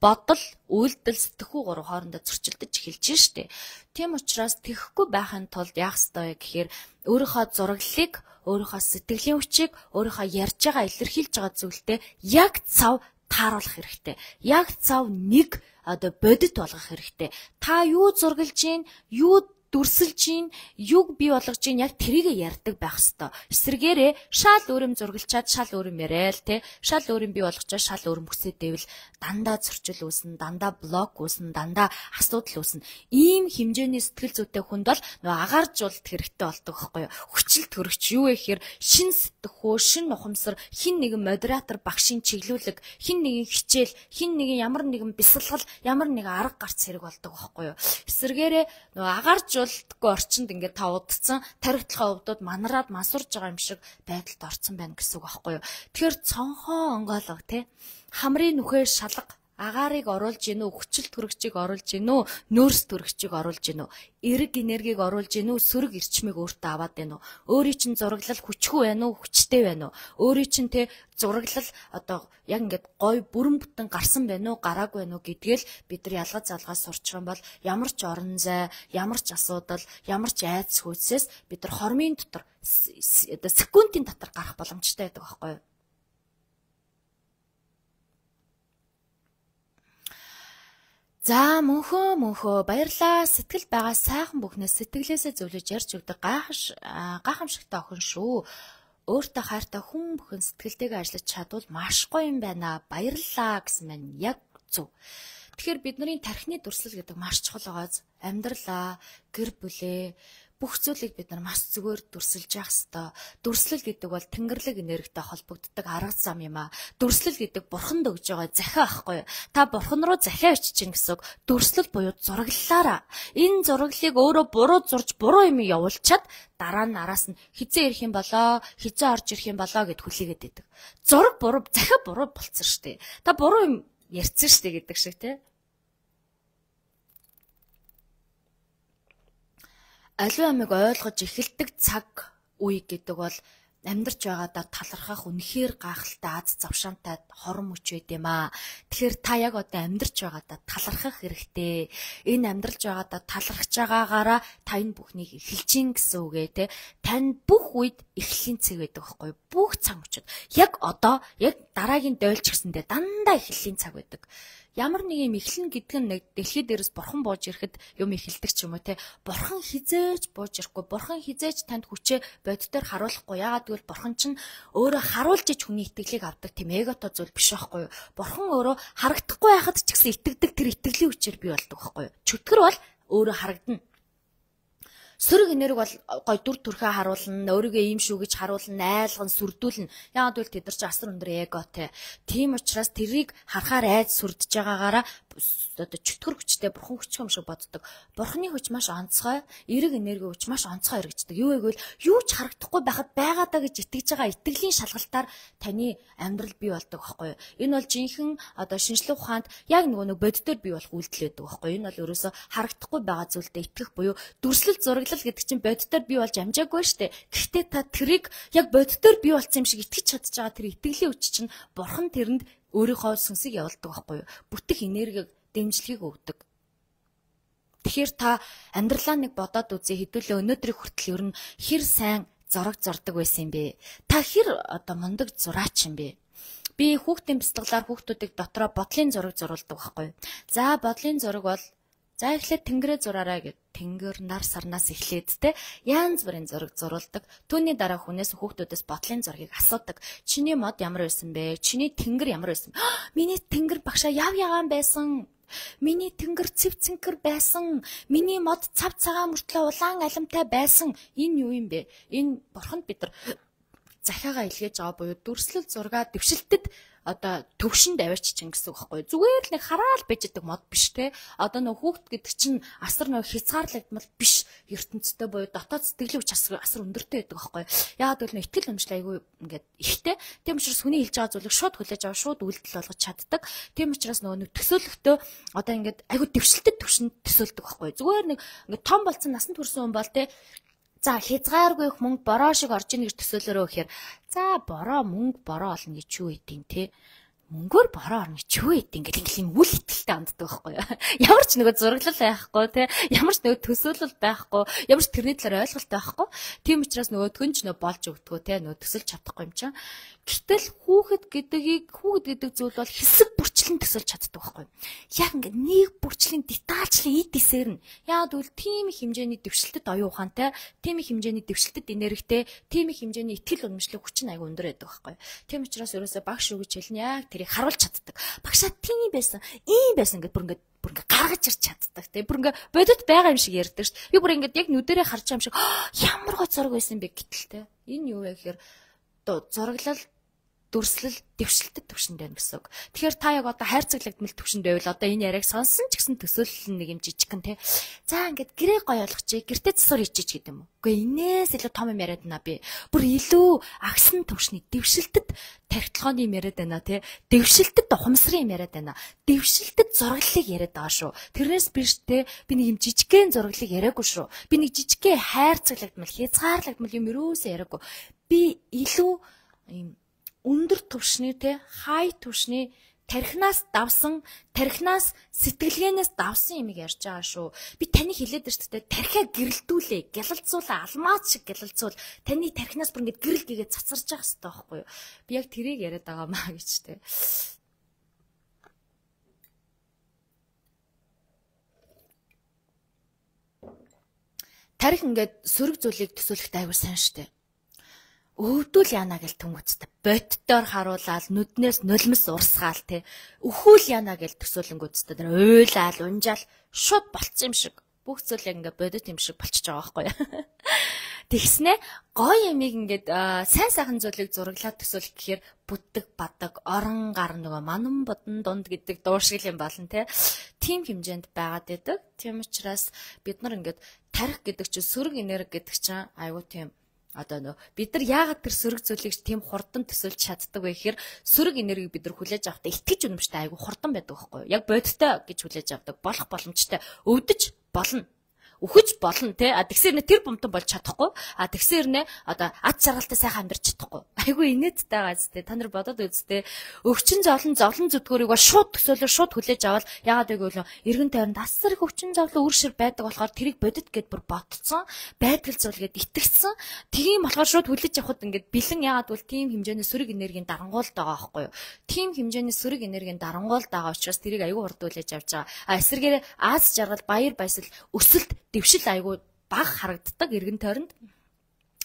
Бодол, үйлдэл, сэтгэхүй гурав хоорондоо зөрчилдөж эхэлж штэ. Тийм учраас тэхгүй байхын тулд яах ёстой вэ гэхээр өөрийнхөө зураглалыг, өөрийнхөө сэтгэлийн хүчийг, өөрийнхөө ярьж байгаа, илэрхийлж байгаа зүйлтэй яг цав тааруулах хэрэгтэй. Яг цав нэг одоо бодит болгох хэрэгтэй. Та юу зургалж гин, юу дүрсэлж ийн, юг бий болгож ийн яг тэрийг ярьдаг байх хэвээр. Эсвэргээрээ шал өөрөм зургалчаад шал өөрөм яриа л те. Шал өөрөм бий болгочоо шал өөрөм хүсээдэвэл дандаа зөрчил үүснэ, дандаа блок үүснэ, дандаа асуудал үүснэ. Ийм хэмжээний сэтгэл зүйтэй хүнд бол нөгөө агааржуулалт хэрэгтэй болдог байхгүй юу? Хүчил төрөгч юу вэ гэхээр шин сэтгхүү, шин ухамсар, хин нэгэн модератор багшийн чиглүүлэг, хин нэгэн хичээл, хин нэгэн ямар нэгэн бясалгал, ямар нэгэн арга гарц хэрэг болдог байхгүй юу? Эсвэргээрээ нөгөө агааржуулалтгүй орчинд ингээд та удцсан тархитлахаа өвдөд манараад мансурж байгаа юм шиг байдалд орцсон байна гэсэн үг байхгүй юу? Тэгэхээр цонхоо онгоолго те хамрын нүхээр шалга агаарыг оруулж гинүү, хүчил төрөгчийг оруулж гинүү, нөөц төрөгчийг оруулж гинүү, эрг энергийг оруулж гинүү, сөрөг эрчмийг өөртөө аваад байна уу? Өөрийн чинь зураглал хүчгүй байна уу, хүчтэй байна уу? Өөрийн чинь те зураглал одоо яг ингээд гой бүрэн бүтэн гарсан байна уу, гараагүй байна уу гэдгээл бид нар ялгаж залгаас сурчих юм бол ямар ч орон зай, ямар ч асуудал, ямар ч айц хүйсээс бид нар хормын дотор одоо секундын дотор гарах боломжтой байдаг байхгүй юу? За мөнхөө мөнхөө баярлаа. Сэтгэл байгаа сайхан бүхнээс сэтгэлээсээ зөвлөж ярьж өгдөг гайхаш гайхамшигтай охин шүү. Өөртөө хайртай хүн бүхэн сэтгэлтэйгээ ажиллаж чадвал маш гоё юм байна. Баярлалаа гэсэн маань яг зөв. Тэгэхээр бидний тархины дүрслэл гэдэг маш чухал байгааз амьдралаа, гэр бүлээ бүх зүйлийг бид нар маш зүгээр дүрсэлж явах ёстой. Дүрслэл гэдэг бол тэнгэрлэг энергитэй холбогддог арга зам юм аа. Дүрслэл гэдэг бурханд өгж байгаа захиа байхгүй юу? Та бурхан руу захиа очиж гин гэсэн үг. Дүрслэл буюу зураглалаараа. Энэ зураглалыг өөрөө буруу зурж буруу юм явуулчаад дараа нь араас нь хизээ ирэх юм болоо, хизээ орж ирэх юм болоо гэд хүлээгээд байдаг. Зураг буруу, захиа буруу болцсон шүү дээ. Та буруу юм ярьсан шүү дээ гэдэг шиг тий. Аливаа амиг ойлгож эхэлдэг цаг үе гэдэг бол амьдарч байгаадаа талархах үнэхээр гайхалтай аз завшаантай хорон мөч байд юм аа. Тэгэхээр та яг одоо амьдарч байгаадаа талархах хэрэгтэй. Энэ амьдарч байгаадаа талархж байгаагаараа та энэ бүхнийг эхэлж гин гэсэн үгээ те. Тань бүх үед эхлэлийн цаг байдаг байхгүй юу? Бүх цаг мөчөд. Яг одоо яг дараагийн дойлч гэсэндээ дандаа эхлэлийн цаг байдаг. Ямар нэг юм эхлэн гэдэг нь нэг дэлхий дээрээс бурхан бууж ирэхэд юм эхэлдэг ч юм уу те. Бурхан хизээж бууж ирэхгүй, бурхан хизээж танд хүчээ бодитоор харуулахгүй. Яагаад гэвэл бурхан чинь өөрөө харуулж иж хүний итгэлийг авдаг тийм эгото зүйл биш байхгүй юу? Бурхан өөрөө харагдахгүй байхад ч гэсэн итгэдэг тэр итгэлийн хүчээр бий болдог байхгүй юу? Чөтгөр бол өөрөө харагдана. Сөрөг энерги бол гой дүр төрхөө харуулна, өөрийгөө ийм шүү гэж харуулна, айлган, сүрдүүлнэ. Яагаад гэвэл тэд нар ч асар өндөр эготэй. Тийм учраас тэрийг харахаар айж сүрдэж байгаагаараа одоо чөтгөр хүчтэй бурхан хүч юм шиг боддог. Бурханы хүч маш онцгой, эрэг энерги хүч маш онцгой хэрэгждэг. Юу вэ гэвэл юу ч харагдахгүй байхад байгаадаа гэж итгэж байгаа итгэлийн шалгалтаар таны амьдрал бий болдог байхгүй юу? Энэ бол жинхэнэ одоо шинжлэх ухаанд яг нөгөө нэг бодитоор бий болох үйлдэл байдаг байхгүй юу? Энэ бол ерөөсө харагдахгүй байгаа зүйлдээ итгэх буюу дүрслэл зураглал гэдэг чинь бодитоор бий болж амжаагүй шүү дээ. Гэхдээ та тэрийг яг бодитоор бий болсон юм шиг итгэж чадж байгаа тэр итгэлийн хүч чинь бурхан тэрэнд өөрийнхөө сүнсийг явуулдаг байхгүй юу? Бүтэх энергийг, дэмжлэгийг өгдөг. Тэгэхээр та амьдралаа нэг бодоод үзье, хэдүүлээ өнөөдрийг хүртэл ер нь хэр сайн зураг зурдаг байсан юм бэ? Та хэр одоо мундаг зураач юм бэ? Би хүүхдийн бяцлаглаар хүүхдүүдийг дотроо бодлын зураг зурулдаг байхгүй юу? За бодлын зураг бол за эхлээд тэнгэрээ зураарай гэд тэнгэр нар сарнаас эхлээд те янз бүрийн зураг зурулдаг. Түүний дараа хүнээс хүүхдүүдээс бодлын зургийг асуудаг. Чиний мод ямар байсан бэ? Чиний тэнгэр ямар байсан? Миний тэнгэр багшаа яв ягаан байсан. Миний тэнгэр цэв цэнкэр байсан. Миний мод цав цагаан мөртлөө улаан алимтай байсан. Энэ юу юм бэ? Энэ бурханд бид нар захиагаа илгээж байгаа буюу дүрслэл зургаа дэвшилтэд одоо төвшөнд аваач чинь гэсэн үг байхгүй. Зүгээр л нэг хараал байж байгаа мод биш те. Одоо нөх хүүхд гэдэг чинь асар нөх хязгаарлагдмал биш ертөнцтэй буюу дотоод сэтгэлийн хүч асар асар өндөртэй байдаг байхгүй. Яагаад гэвэл нөх итгэл өмчлөө айгүй ингээд ихтэй. Тийм учраас хүний хэлж байгаа зүйлийг шууд хүлээж аваа шууд үйлдэл болгож чаддаг. Тийм учраас нөгөө нэг төсөөлөхдөө одоо ингээд айгүй дэвшилтэд төвшөнд төсөөлдөг байхгүй. Зүгээр нэг ингээд том болцсон насанд хүрсэн хүн бол те за хязгааргүй их мөнгө бороо шиг орж ийн гэж төсөөлөрөө гэхээр за бороо мөнгө бороо олно гэж юу идэв те мөнгөөр бороо орно гэж юу идэв ингээд ингээл юм үл итгэлтэй анддаг байхгүй юу ямар ч нөгөө зураглал байхгүй те ямар ч нөгөө төсөөлөл байхгүй ямар ч тэрний талаар ойлголт байхгүй тийм учраас нөгөөдгөн ч нөгөө болж өгдгөө те нөгөө төсөлж чадахгүй юм чинь гэтэл хүүхэд гэдгийг хүүхэд гэдэг зүйл бол хэсэг бүрч бүрчлэн төсөлж чаддаг байхгүй. Яг ингээд нэг бүрчлийн детальчлын эд эсээр нь яагаад гэвэл тийм их хэмжээний дэвшилтэд оюун ухаантай, тийм их хэмжээний дэвшилтэд энергитэй, тийм их хэмжээний итгэл үнэмшлэг хүч нь аяга өндөр байдаг байхгүй. Тийм учраас ерөөсөө багш өгч хэлнэ яг тэрийг харуулж чаддаг. Багшаа тийм байсан, ийм байсан гэдээ бүр ингээд бүр ингээ гаргаж ирч чаддаг тий. Бүр ингээ бодит байгаа юм шиг ярьдаг шүү дээ. Би бүр ингээд яг нүдэрээ харж байгаа юм шиг ямар гой зураг байсан бэ гэтэл тий. Энэ юу вэ гэхээр зураглал дүрслэл дэвшилтэд төвшөнд байна гэсэн үг. Тэгэхээр та яг одоо хайрцаглагдмал төвшөнд байвал одоо энэ яриаг сонсон ч гэсэн төсөөлөл нэг юм жижигхэн тий. За ингээд гэрээ гоё болгочих, гэртээ цэсвэр ичиж гэдэг юм уу. Үгүй энээс илүү том юм яриад байна би. Бүр илүү агсан төвшний дэвшилтэд тархитлагын юм яриад байна тий. Дэвшилтэд ухамсарын юм яриад байна. Дэвшилтэд зураглалыг яриад байгаа шүү. Тэрнээс биш тий. Би нэг юм жижигхэн зураглалыг яриаггүй шүү. Би нэг жижигхэн хайрцаглагдмал, хязгаарлагдмал юм юусоо яриаггүй. Би илүү юм өндөр түвшний те хай түвшний тархинаас давсан тархинаас сэтгэлгээнээс давсан юмыг ярьж байгаа шүү. Би таны хэлээд байна шүү дээ. Тархиа гэрэлтүүлээ, гялалцуулаа, алмаз шиг гялалцуул. Таны тархинаас бүр ингэж гэрэл гээгээ цацарж байгаа хэрэгтэй байхгүй юу? Би яг тэрийг яриад байгаа маа гэж те. Тарих ингээд сөрөг зүйлийг төсөөлөхтэй аягүй сайн шүү дээ. Өвдөл яана гэл түнгөцтэй боттоор харуулаад нүднээс нулимс урсгаал те өхүүл яана гэл төсөөлөнгөөцтэй тэр уйлаал унжаал шууд болцсон юм шиг бүх зүйл яг ингээ бодит юм шиг болчихж байгаа байхгүй юу. Тэгснэ гоё ямиг ингээд сайн сайхан зүйлийг зураглаад төсөөлөх гэхээр бүтдэг бадаг орон гар нөгөө манан бодон дунд гэдэг дууршил юм болно те. Тим хэмжээнд байгаад байдаг. Тийм учраас бид нар ингээд тарих гэдэг чинь сөрөг энерги гэдэг чинь айгуу тийм одоо нөө бид нар яагаад тэр сөрөг зүйлийг тийм хурдан төсөөлж чаддаг вэ гэхээр сөрөг энергийг бид нар хүлээж авахдаа итгэж үнэмштэй айгүй хурдан байдаг байхгүй юу? Яг бодиттой гэж хүлээж авдаг болох боломжтой өвдөж болно. Үхэж болно те. А тэгсэр нэ тэр бомтон болж чадахгүй. А тэгсэр нэ одоо ад жаргалтай сайхан амьдарч чадахгүй. Айгүй инээдтэй байгаа зү те. Та нар бодоод үзтээ. Өвчин зовлон зовлон зүдгүүрийг ба шууд төсөөлөөр шууд хүлээж аваад яагаад гэвэл эргэн тойронд асар их өвчин зовлон үр шир байдаг болохоор тэрийг бодит гэд бүр ботцсон. Байдгал зүйл гэд итгэцсэн. Тийм болохоор шууд хүлээж авахд ингээд бэлэн яагаад гэвэл тийм хэмжээний сөрөг энергийн дарангуйлд байгаа байхгүй юу? Тийм хэмжээний сөрөг энергийн дарангуйлд байгаа учраас тэрийг айгүй хурд хүлээж авч байгаа. А эсвэргээр аз жаргал баяр баясгал өсөлт дэвшил айгүй баг харагддаг эргэн тойронд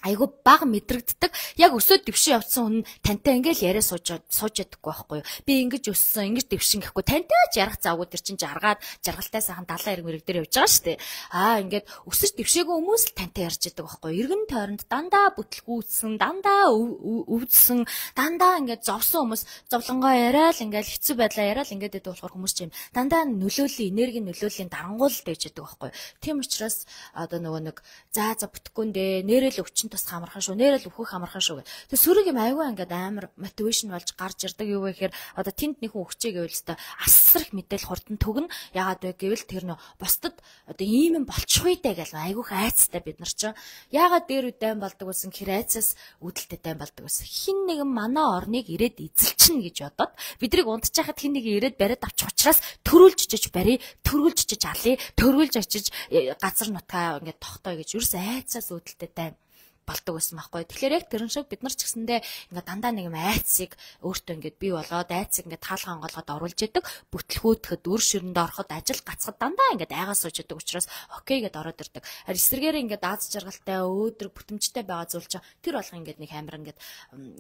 айгүй баг мэдрэгддэг. Яг өсөөд дэвшин явцсан хүн тантай ингээл яриа сууж сууж ядаггүй байхгүй юу? Би ингэж өссөн, ингэж дэвшин гэхгүй тантай ч ярах завгүй тэр чинь жаргаад жаргалтай сайхан далайн эрг мэрэг дээр явж байгаа шүү дээ. Аа ингээд өсөж дэвшээгүй хүмүүс л тантай ярьж ядаг байхгүй юу? Эргэн тойронд дандаа бүтлгүүцсэн, дандаа өвдсөн, дандаа ингээд зовсон хүмүүс зовлонгоо яриад ингээл хэцүү байдлаа яриад ингээд байдаг болохоор хүмүүс чинь дандаа нөлөөллийн энерги нөлөөллийн дарангуул дэж ядаг байхгүй юу? Тийм учраас одоо нөгөө нэг заа за бүтэхгүй нэ нэрэл өвчин тус хамархан шүү. Нэрэл өвхөх хамархан шүү гэх. Тэг сөрөг юм аюу ингээд амар мотивашн болж гарч ирдэг юу вэ гэхээр одоо тэнд нэг хүн өгчээ гэвэл өстой асар их мэдээл хурдан төгнө. Яагаад вэ гэвэл тэр нөө бусдад одоо ийм юм болчих үе даа гэл айгүйх айцтай бид нар чинь. Яагаад дээр үдэн болдог гэсэн хэр айцаас үүдэлтэй дайн болдог гэсэн. Хин нэгэн манай орныг ирээд эзэлчихнэ гэж бодоод бидрийг унтчихад хин нэг ирээд бариад авчих учраас төрүүлж чиж барий, төрүүлж чиж алий, төрүүлж очиж газар нутгаа ингээд тогтоё гэж ерөөс айцаас үүдэлтэй дайн болдог байсан байхгүй. Тэгэхээр яг тэрэн шиг бид нар ч гэсэндээ ингээд дандаа нэг юм айцыг өөртөө ингээд бий болгоод айцыг ингээд таалга онголгоод оруулж яадаг. Бүтлгүүтгэхэд үр ширэнд ороход ажил гацхад дандаа ингээд айгаа сууж яадаг учраас окей гэд ороод ирдэг. Харин эсвэргээр ингээд аз жаргалтай өөдрөг бүтэмжтэй байгаа зүйл чинь тэр болго ингээд нэг амар ингээд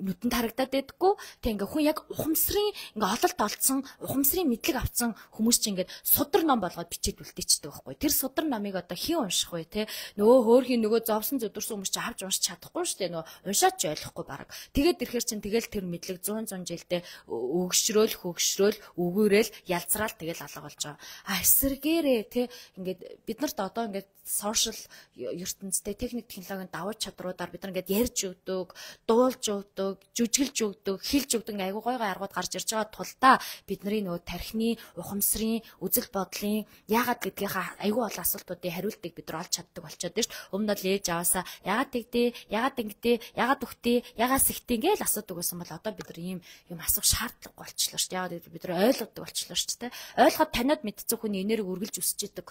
нүдэнд харагдаад байдаггүй. Тэг ингээд хүн яг ухамсарын ингээд ололт олцсон, ухамсарын мэдлэг авсан хүмүүс чинь ингээд судар ном болгоод бичээд үлдээчдэг байхгүй. Тэр судар номыг одоо хэн унших вэ те? Нөгөө хөөрхийн нөгөө зовсон зүдэрсэн хүмүүс чинь авч чадахгүй шүү дээ. Нөө уншаач ч ойлгохгүй баг. Тэгээд ирэхэр чинь тэгэл тэр мэдлэг зуун зуун жилдээ өгшрөөл хөгшрөөл өгөөрэл ялцраал тэгэл алга болж байгаа. А эсэргээрээ те ингээд бид нарт одоо ингээд сошиал ертөнцтэй техник технологийн давуу чадруудаар бид нар ингээд ярьж өгдөг, дуулж өгдөг, жүжиглж өгдөг, хэлж өгдөг айгуу гой гой аргууд гарч ирж байгаа тулдаа бидний нөгөө тархины, ухамсарын, үзэл бодлын яагаад гэдгийнхаа айгуу олон асуултуудын хариултыг бид нар олж чаддаг болчиход байна шүү дээ. Өмнө нь л ээж аваасаа яагаад тэгдэ, яагаад ингэдэ, яагаад үхтээ, яагаад сэгтээ ингээл асуудаг байсан бол одоо бид нар ийм юм асуух шаардлагагүй болчихлоо шүү дээ. Яагаад бид нар ойлгодог болчихлоо шүү дээ. Ойлгоход таниад мэдсэн хүний энерги үргэлж өсөж идэг.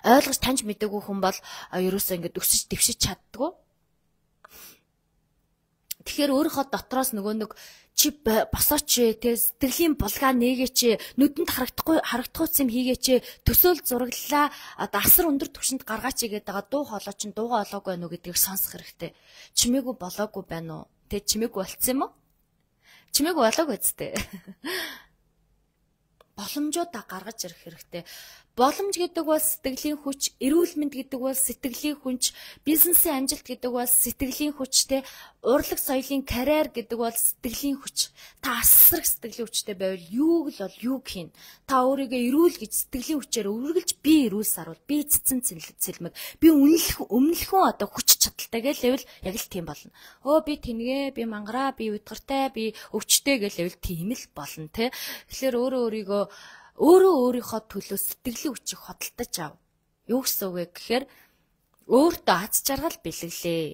Ойлгож таньж мэдээгүй хүн бол ерөөсөө ингэж өсөж дэвшиж чаддгүй. Тэгэхээр өөрийнхөө дотроос нөгөө нэг чи босооч те сэтгэлийн булгаа нээгээч нүдэнд харагдахгүй харагдахуйц юм хийгээч төсөөл зураглалаа одоо асар өндөр түвшинд гаргаач гэдэг байгаа дуу хоолой чин дуугаа олоогүй байна уу гэдгийг сонсох хэрэгтэй. Чимээгүй болоогүй байна уу? Тэ чимээгүй болцсон юм уу? Чимээгүй болоогүй зү. Боломжуудаа гаргаж ирэх хэрэгтэй. Боломж гэдэг бол сэтгэлийн хүч, эрүүл мэнд гэдэг бол сэтгэлийн хүч, бизнесийн амжилт гэдэг бол сэтгэлийн хүчтэй, урлаг соёлын карьер гэдэг бол сэтгэлийн хүч. Та асар их сэтгэлийн хүчтэй байвал юуг л бол юуг хийн. Та өөрийгөө эрүүл гэж сэтгэлийн хүчээр үргэлж би эрүүл сарвал, би цэцэн цэлмэг, би үнэлэх өмнөлхөн одоо хүч чадалтай гэвэл яг л тийм болно. Өө би тэнгээ, би мангараа, би удгартай, би өвчтэй гэвэл тийм л болно те. Тэгэхээр өөрөө өөрийгөө өөрөө өөрийнхөө төлөө сэтгэлийн хүчийг хөдөлтөж ав. Юу гэсэн үг вэ гэхээр өөртөө аз жаргал бэлэглээ.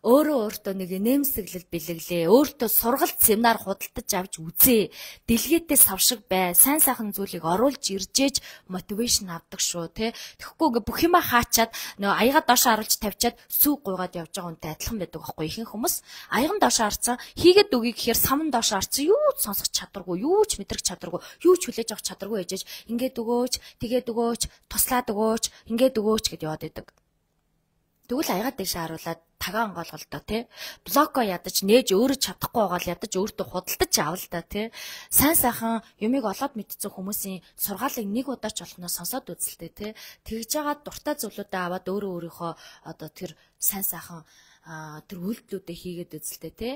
Өөрөө өөртөө нэг нэмсэглэл бэлэглээ. Өөртөө сургалт семинар худалдаж авч үзээ. Дэлгээтэй савшиг бай. Сайн сайхан зүйлийг оруулж иржээж мотивашн авдаг шүү, тэ. Тэгэхгүй ингээ бүх юма хаачаад нөө аяга доош харуулж тавьчаад сүү гуйгаад явж байгаа үнтэй адилхан байдаг байхгүй ихэнх хүмүүс. Аяган доош харцсан хийгээд үгүй гэхээр саман доош харцсан юу ч сонсох чадваргүй, юу ч мэдрэх чадваргүй, юу ч хүлээж авах чадваргүй ээжэж ингээд өгөөч, тэгээд өгөөч, туслаад өгөөч, ингээд өгөөч гэд яваад байдаг. Тэгвэл аяга дэш харуулаад тагаан голголдоо тий блоко ядаж нээж өөрөө чадахгүй байгаа л ядаж өөртөө худалдаж авал та тий сайн сайхан юмыг олоод мэдсэн хүмүүсийн сургаалыг нэг удаа ч болохноос сонсоод үзэлтэй тий тэгж байгаа дуртай зүйлүүдээ аваад өөрөө өөрийнхөө одоо тэр сайн сайхан тэр үйлдэлүүдээ хийгээд үзэлтэй тий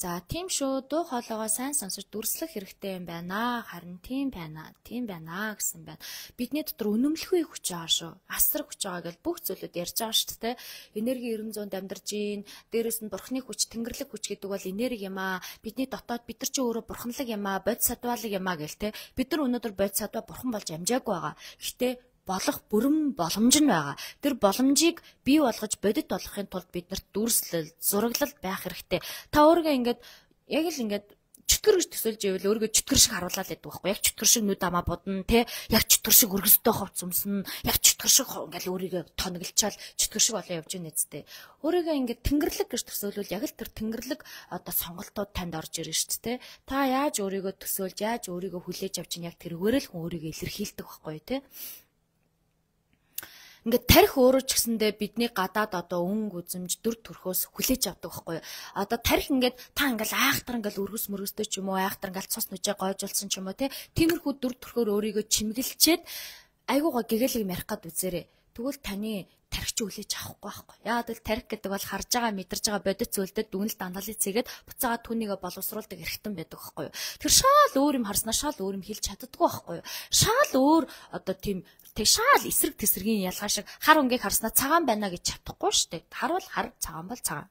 за тийм шүү дуу хоолойгоо сайн сонсож дүрслэх хэрэгтэй юм байна харин тийм байна тийм байна гэсэн байна бидний дотор үнэмлэхүй хүч байгаа шүү асар хүч байгаа гэж бүх зүйлүүд ярьж байгаа шүү тий энерги ерөн зуунд амьдарч ийн дээрэс нь бурхны хүч тэнгэрлэг хүч гэдэг бол энерги юм аа бидний дотоод бид нар чи өөрөө бурханлаг юм аа бодис садвалаг юм аа гэл тий бид нар өнөөдөр бодис садва бурхан болж амжаагүй байгаа гэхдээ болох бүрэн боломж нь байгаа. Тэр боломжийг бий болгож бодит болгохын тулд биднэрт дүрслэл, зураглал байх хэрэгтэй. Та өөрийгөө ингээд яг л ингээд чөтгөр гэж төсөөлж ивэл өөрийгөө чөтгөр шиг харуулаад байдаг байхгүй яг чөтгөр шиг нүд амаа будна те яг чөтгөр шиг өргөстэй ховц өмснө яг чөтгөр шиг ингээл өөрийгөө тоноглчаал чөтгөр шиг болоо явж ийн нэзтэй өөрийгөө ингээд тэнгэрлэг гэж төсөөлвөл яг л тэр тэнгэрлэг одоо сонголтууд танд орж ирнэ шүү дээ та яаж өөрийгөө төсөөлж яаж өөрийгөө хүлээж авч ийн яг тэрүүгээр л хүн өөрийгөө илэрхийлдэг байхгүй те ингээд тарих өөрөө ч гэсэндээ бидний гадаад одоо өнгө үзэмж дүр төрхөөс хүлээж авдаг байхгүй юу. Одоо тарих ингээд та ингээл айхтар ингээл өргөс мөргөстэй ч юм уу айхтар ингээл цус нүжээ гойжулсан ч юм уу те. Тиймэрхүү дүр төрхөөр өөрийгөө чимгэлчээд айгуугаа гэгээлэг ярих гад үзээрэй. Тэгвэл таны тархич хүлээж авахгүй байхгүй. Яагаад гэвэл тарих гэдэг бол харж байгаа мэдэрж байгаа бодит зүйлдэд дүгнэлт анализ хийгээд буцаагаад түүнийгээ боловсруулдаг эрхтэн байдаг байхгүй юу. Тэр шал өөр юм харснаа шал өөр юм хэлж чаддаггүй байхгүй юу. Шал өөр одоо тийм тэг шал эсрэг тесргийн ялгаа шиг хар өнгийг харснаа цагаан байна гэж чадахгүй шүү дээ. Хар бол хар, цагаан бол цагаан.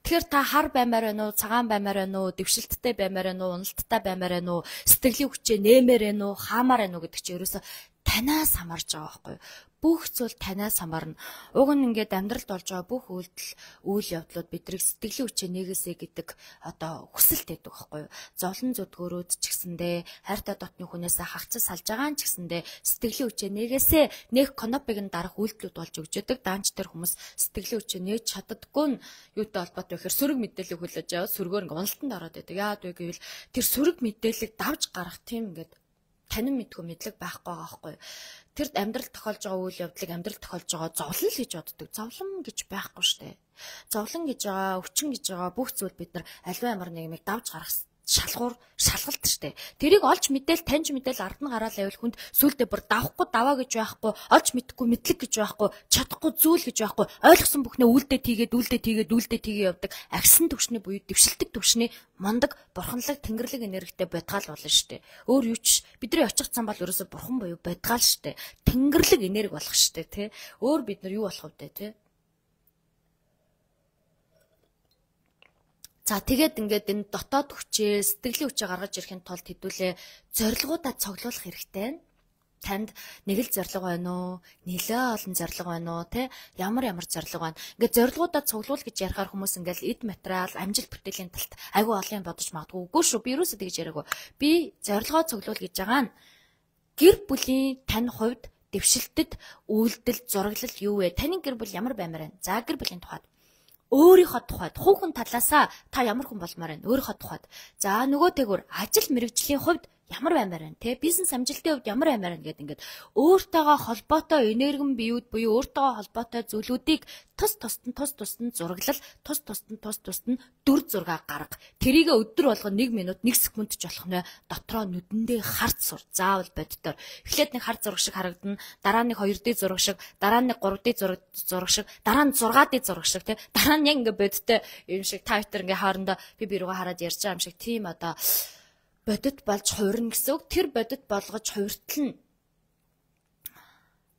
Тэгэхээр та хар баймаар байна уу, цагаан баймаар байна уу, дэвшилттэй баймаар байна уу, уналттай баймаар байна уу, сэтгэлийн хүчээ нэмээр байна уу, хаамаар байна уу гэдэг чинь ерөөсө танаас хамаарж байгаа байхгүй юу. Бүх зүйл танаас хамаарна. Уг нь ингээд амьдралд болж байгаа бүх үйлдэл, үйл явдлууд бидрийг сэтгэлийн хүчээ нэгээсэ гэдэг одоо хүсэлт байдаг байхгүй юу. Зовлон зүдгөөрөөд ч гэсэндээ хайртай дотны хүнээсээ хагцас салж байгаа ч гэсэндээ сэтгэлийн хүчээ нэгээсэ нэг конопыг нь дарах үйлдэлүүд болж өгч яадаг. Даанч тэр хүмүүс сэтгэлийн хүчээ нээж чаддаггүй нь юутай холбоотой вэ гэхээр сөрөг мэдээлэл хүлээж аваад сөргөөр ингээд уналтанд ороод байдаг. Яагаад вэ гэвэл тэр сөрөг мэдээллийг давж гарах тийм ингээд танин мэдгүй мэдлэг байхгүй байгаа байхгүй юу. Тэр амьдрал тохиолж байгаа үйл явдлыг амьдрал тохиолж байгаа зовлон л гэж боддог. Зовлон гэж байхгүй штэ. Зовлон гэж байгаа, өвчин гэж байгаа бүх зүйл бид нар аливаа ямар нэгмийг давж гарах шалгуур шалгалт штэ. Тэрийг олж мэдээл таньж мэдээл ард нь гараал байвал хүнд сүулдэ бүр давахгүй даваа гэж байхгүй, олж мэдэхгүй мэдлэг гэж байхгүй, чадахгүй зүйл гэж байхгүй, ойлгосон бүхнээ үлдээ тийгээд үлдээ тийгээд үлдээ тийгээ явдаг. Агсан төвшний буюу дэвшилдэг төвшний мондог бурханлаг тэнгэрлэг энергитэй бодгаал болно штэ. Өөр юу ч бидний очих зам бол ерөөсө бурхан буюу бодгаал штэ. Тэнгэрлэг энерги болох штэ тий. Өөр бид нар юу болох вэ тий? За тэгээд ингээд энэ дотоод хүчээ сэтгэлийн хүчээ гаргаж ирэхин тулд хэдүүлээ зорилгоудаа цоглуулах хэрэгтэй. Танд нэг л зорилго байна уу? Нэлээ олон зорилго байна уу? Тэ ямар ямар зорилго байна? Ингээд зорилгоудаа цуглуул гэж ярихаар хүмүүс ингээд эд материал, амжилт бүтээлийн талт айгүй олон юм бодож магадгүй. Үгүй шүү. Би юусоо тэгж яриаггүй. Би зорилгоо цуглуул гэж байгаа нь гэр бүлийн тань хувьд дэвшилтэд үйлдэл зураглал юу вэ? Таны гэр бүл ямар баймаар байна? За гэр бүлийн тухайд өөрийнхөө тухайд хүүхэн талаасаа та ямар хүн болмоор байна? Өөрийнхөө тухайд. За нөгөөтэйгүр ажил мэргэжлийн хувьд ямар баймаар байна те бизнес амжилтын хувьд ямар баймаар байна гэдэг ингээд өөртөөгөө холбоотой энергэн биеуд буюу өөртөөгөө холбоотой зүйлүүдийг тус тусад нь тус тусад нь зураглал тус тусад нь тус тусад нь дүр зураг гарга тэрийг өдөр болгон нэг минут нэг секунд ч болох нэ дотроо нүдэндээ харц сур заавал боддоор эхлээд нэг хар зураг шиг харагдана дараа нь хоёр дэ зураг шиг дараа нь гурав дэ зураг зураг шиг дараа нь зургаад дэ зураг шиг те дараа нь яг ингээд бодтой юм шиг та хоёр ингээд хоорондоо би би рүүгээ хараад ярьж байгаа юм шиг тийм одоо бодит болж хувирна гэсэн үг. Тэр бодит болгож хувиртал нь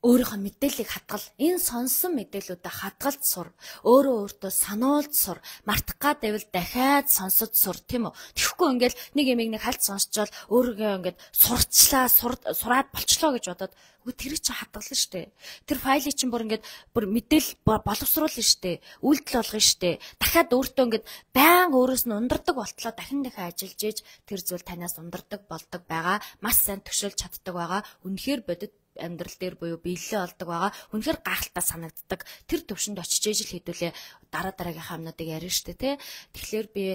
өөрийнхөө мэдээллийг хадгал энэ сонсон мэдээллүүдээ хадгалж сур өөрөө өөртөө сануулж сур мартах гад байвал дахиад сонсож сур тийм үү тэгэхгүй ингээл нэг ямиг нэг хальт сонсчвал өөрийгөө ингээд сурчлаа сураад болчлоо гэж бодоод үгүй тэр чинь хадгална штэ тэр файлыг чинь бүр ингээд бүр мэдээлэл боловсруулна штэ үйлдэл болгоно штэ дахиад өөртөө ингээд баян өөрөөс нь ундардаг болтлоо дахин дахин ажиллаж ийж тэр зүйл танаас ундардаг болдог байгаа маш сайн төшөөлж чаддаг байгаа үнэхээр бодит амьдрал дээр буюу биелэлээ олдог байгаа. Үнэхээр гахалтай санагддаг. Тэр төвшөнд очиж ижил хэдүүлээ дараа дараагийнхаа юмнуудыг ярина штэ тий. Тэгэхээр би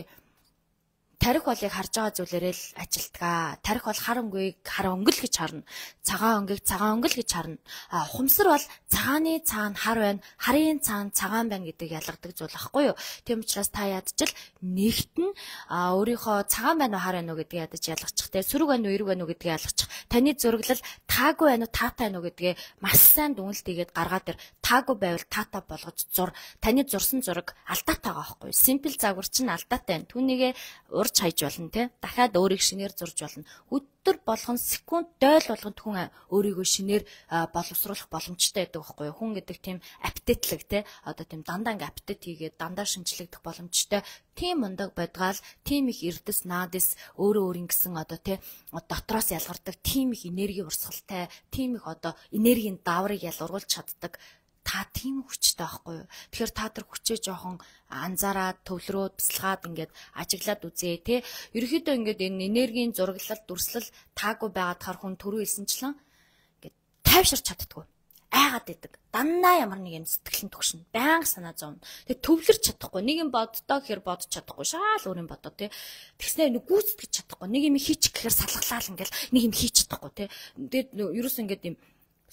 тарих болыг харж байгаа зүйлээрээ л ажилтгаа. Тарих бол хар өнгөийг хар өнгөл гэж харна. Цагаан өнгөийг цагаан өнгөл гэж харна. А ухамсар бол цагааны цаана хар байна, харын цаана цагаан байна гэдэг ялгадаг зүйл байхгүй юу? Тийм учраас та ядчил нэгтэн а өөрийнхөө цагаан байна уу хар байна уу гэдгийг ядаж ялгачих те. Сөрөг байна уу эрэг байна уу гэдгийг ялгачих. Таны зураглал таагүй байна уу таатай байна уу гэдгээ маш сайн дүнэлт хийгээд гаргаад ир. Таагүй байвал таатай болгож зур. Таны зурсан зураг алдаатай байгаа байхгүй юу? Simple загвар чинь алдаатай байна. Түүнийгээ урж хайж болно те дахиад өөрийг шинээр зурж болно өдөр болгон секунд дойл болгонд хүн өөрийгөө шинээр боловсруулах боломжтой байдаг байхгүй юу хүн гэдэг тийм апдейтлэг те одоо тийм дандаа ингээ апдейт хийгээд дандаа шинжлэгдэх боломжтой тийм ундаг бодгаал тийм их эрдэс наадис өөрөө өөрийн гэсэн одоо те дотроос ялгардаг тийм их энерги урсгалтай тийм их одоо энергийн даврыг ялгарулж чаддаг та тийм хүчтэй байхгүй юу. Тэгэхээр та тэр хүчээ жоохон анзаараад төвлөрөөд бясалгаад ингээд ажиглаад үзээ те. Ерөнхийдөө ингээд энэ энергийн зураглал дүрслэл таагүй байгаад хар хүн түрүү хэлсэнчлэн ингээд тайвширч чаддгүй. Айгаад идэг. Дандаа ямар нэг юм сэтгэлэн төгшнө. Байнга санаа зовно. Тэгээ төвлөрч чадахгүй. Нэг юм боддоо гэхээр бодож чадахгүй. Шаал өөр юм бодоо те. Тэгснээр нэг гүйцэтгэж чадахгүй. Нэг юм хийчих гэхээр салглалаа ингээл нэг юм хийж чадахгүй те. Тэгээд ерөөс ингээд юм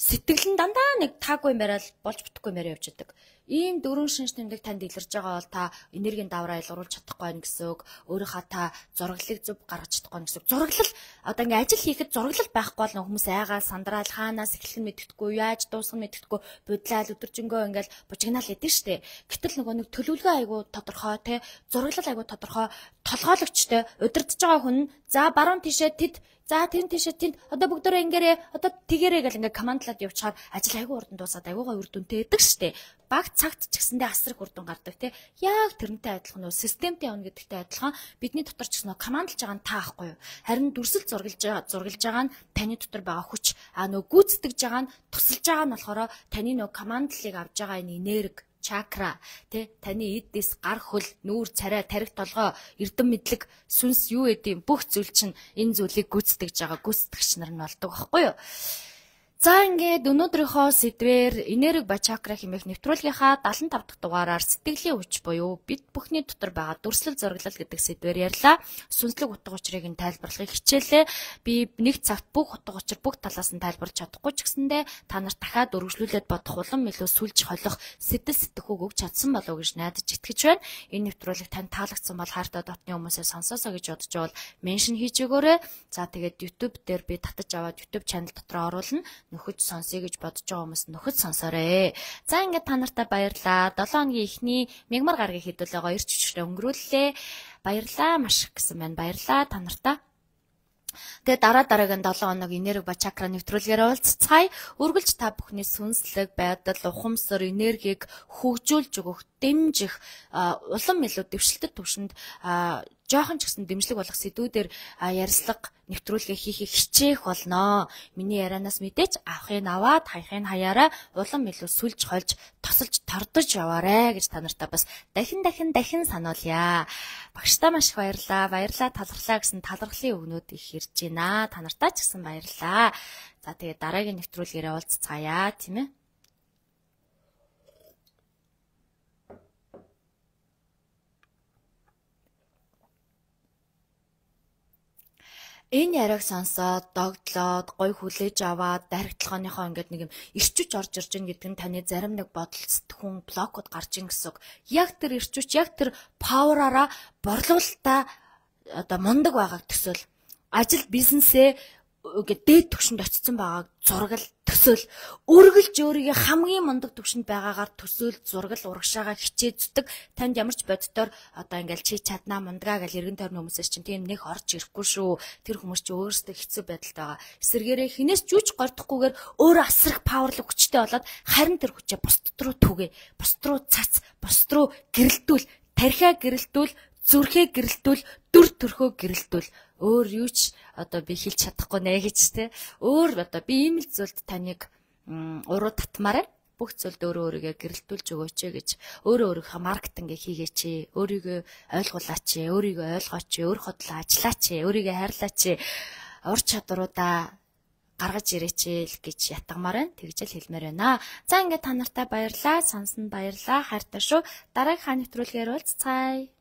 сэтгэл нь дандаа нэг таагүй юм барайл болж бүтэхгүй юм яриа явж идэг. Ийм дөрвөн шинж тэмдэг танд илэрж байгаа бол та энергийн давраа илруулж чадахгүй байх гэсэн үг. Өөрийнхөө та зураглалыг зөв гаргаж чадахгүй байх гэсэн үг. Зураглал одоо ингээ ажил хийхэд зураглал байхгүй бол хүмүүс айгаал сандраал хаанаас эхлэх нь мэддэхгүй, яаж дуусгах нь мэддэхгүй, будлаал өдөржингөө ингээл бужигнаал идэв штэ. Гэтэл нөгөө нэг төлөвлөгөө айгуу тодорхой те зураглал айгуу тодорхой толгойлогчтой удирдах байгаа хүн за баруун тишээ тэд за тэн тишээ тэнд одоо бүгдөө ингээрээ одоо тэгэрээ гэл ингээ командлаад явчихаар ажил айгуу урдан дуусаад айгуугаа үр дүнтэй байдаг штэ. Баг цагт ч гэсэндээ асар их үр дүн гардаг те. Яг тэрнтэй адилхан нөө системтэй явна гэдэгтэй адилхан бидний дотор ч гэсэн нөө командлж байгаа нь таахгүй юу. Харин дүрсэл зургалж байгаа зургалж байгаа нь таны дотор байгаа хүч а нөө гүйцэтгэж байгаа нь тусалж байгаа нь болохоор таны нөө командлыг авж байгаа энэ энерги чакра тэ таны эддээс гар хөл нүүр царай тарих толгой эрдэм мэдлэг сүнс юу гэдэм бүх зүйл чинь энэ зүйлийг гүйцэтгэж байгаа гүйцэтгэгч нар нь болдог байхгүй юу. За ингээд өнөөдрийнхөө сэдвээр энерги ба чакра хэмээх нэвтрүүлгийнхаа дагалан тав дахь дугаараар сэтгэлийн хүч буюу бид бүхний дотор байгаа дүрслэл зураглал гэдэг сэдвээр ярьлаа. Сүнслэг утга учирыг нь тайлбарлахыг хичээлээ. Би нэг цагт бүх утга учир бүх талаас нь тайлбарлаж чадахгүй ч гэсэндээ та нарт дахиад өргөжлүүлээд бодох улам илүү сүлж холих сэтэл сэтгэхүйг өгч чадсан болов уу гэж найдаж итгэж байна. Энэ нэвтрүүлэг танд таалагдсан бол хайртай дотны хүмүүсээ сонсоосоо гэж бодож байвал меншн хийж өгөөрэй. За тэгээд YouTube дээр би татаж аваад YouTube channel дотор оруулна. Нөхөж сонсъё гэж бодож байгаа хүмүүс нөхөж сонсоорой. За ингээд та нартай баярлаа. долоо хоногийн эхний мягмар гарагийн хэдүүлээ гоё ирч хүчтэй өнгөрүүллээ. Баярлаа маш их гэсэн байна. Баярлаа та нартай. Тэгээ дараа дараагийн долоо хоног энерги ба чакра нэвтрүүлгээр уулзцай. Үргэлж та бүхний сүнслэг байдал, ухамсар, энергийг хөгжүүлж өгөх, дэмжих, улам илүү дэвшилтэд төвшөнд жоохон ч гэсэн дэмжлэг болох сэдвүүдээр ярилцлага нэвтрүүлгээ хийхийг хичээх болно. Миний ярианаас мэдээч авахыг аваад хаяхыг хаяараа улам илүү сүлж хольж тосолж тордож яваарэ гэж та нартай бас дахин дахин дахин сануулъя. Багштай маш их баярлалаа. Баярлалаа талархлаа гэсэн талархлын өгнүүд их ирж байна. Та нартай ч гэсэн баярлалаа. За тэгээд дараагийн нэвтрүүлгээрээ уулзцаая тийм ээ. Энэ яриаг сонсоод догдлоод гой хүлээж аваад дайрагтлахааныхоо ингээд нэг юм ирчүч орж ирж гин гэдэг нь таны зарим нэг бодол сэтгүүн блокуд гарч ин гэсэн үг. Яг тэр ирчүч яг тэр павераараа борлуулалтаа одоо мундаг байгааг төсөөл. Ажил бизнесээ ингээд дээд түвшинд очсон байгааг зургал төсөөл. Үргэлж өөрийгөө хамгийн мундаг түвшинд байгаагаар төсөөл зургал урагшаагаа хичээ зүтг. Танд ямар ч боддоор одоо ингээл чи чаднаа мундгаа гэж эргэн тойрны хүмүүсээс чинь тийм нэг орж ирэхгүй шүү. Тэр хүмүүс чи өөрсдөө хэцүү байдалтай байгаа. Эсвэргээрээ хинээс жүүч гордохгүйгээр өөрөө асрах паверлог хүчтэй болоод харин тэр хүчээ бусд руу түгээ. Бусд руу цац, бусд руу гэрэлтүүл, тархиа гэрэлтүүл, зүрхээ гэрэлтүүл, дүр төрхөө гэрэлтүүл. Өөр юу ч одоо би хэлж чадахгүй нэ гэж те. Өөр одоо би ийм л зүйлд таныг уруу татмаарай. Бүх зүйлд өөрөө өөрийгөө гэрэлтүүлж өгөөч гэж өөрөө өөрийнхөө маркетинг хийгээч. Өөрийгөө ойлгуулаач, өөрийгөө ойлгооч, өөр хотлоо ажиллаач, өөрийгөө хайрлаач. Ур чадваруудаа гаргаж ирээч л гэж ятгамаар байна. Тэгж л хэлмээр байна. За ингээд та нартай баярлаа, сонсонд баярлаа, хайртай шүү. Дараагийн хаан нэвтрүүлгээр уулзцаая.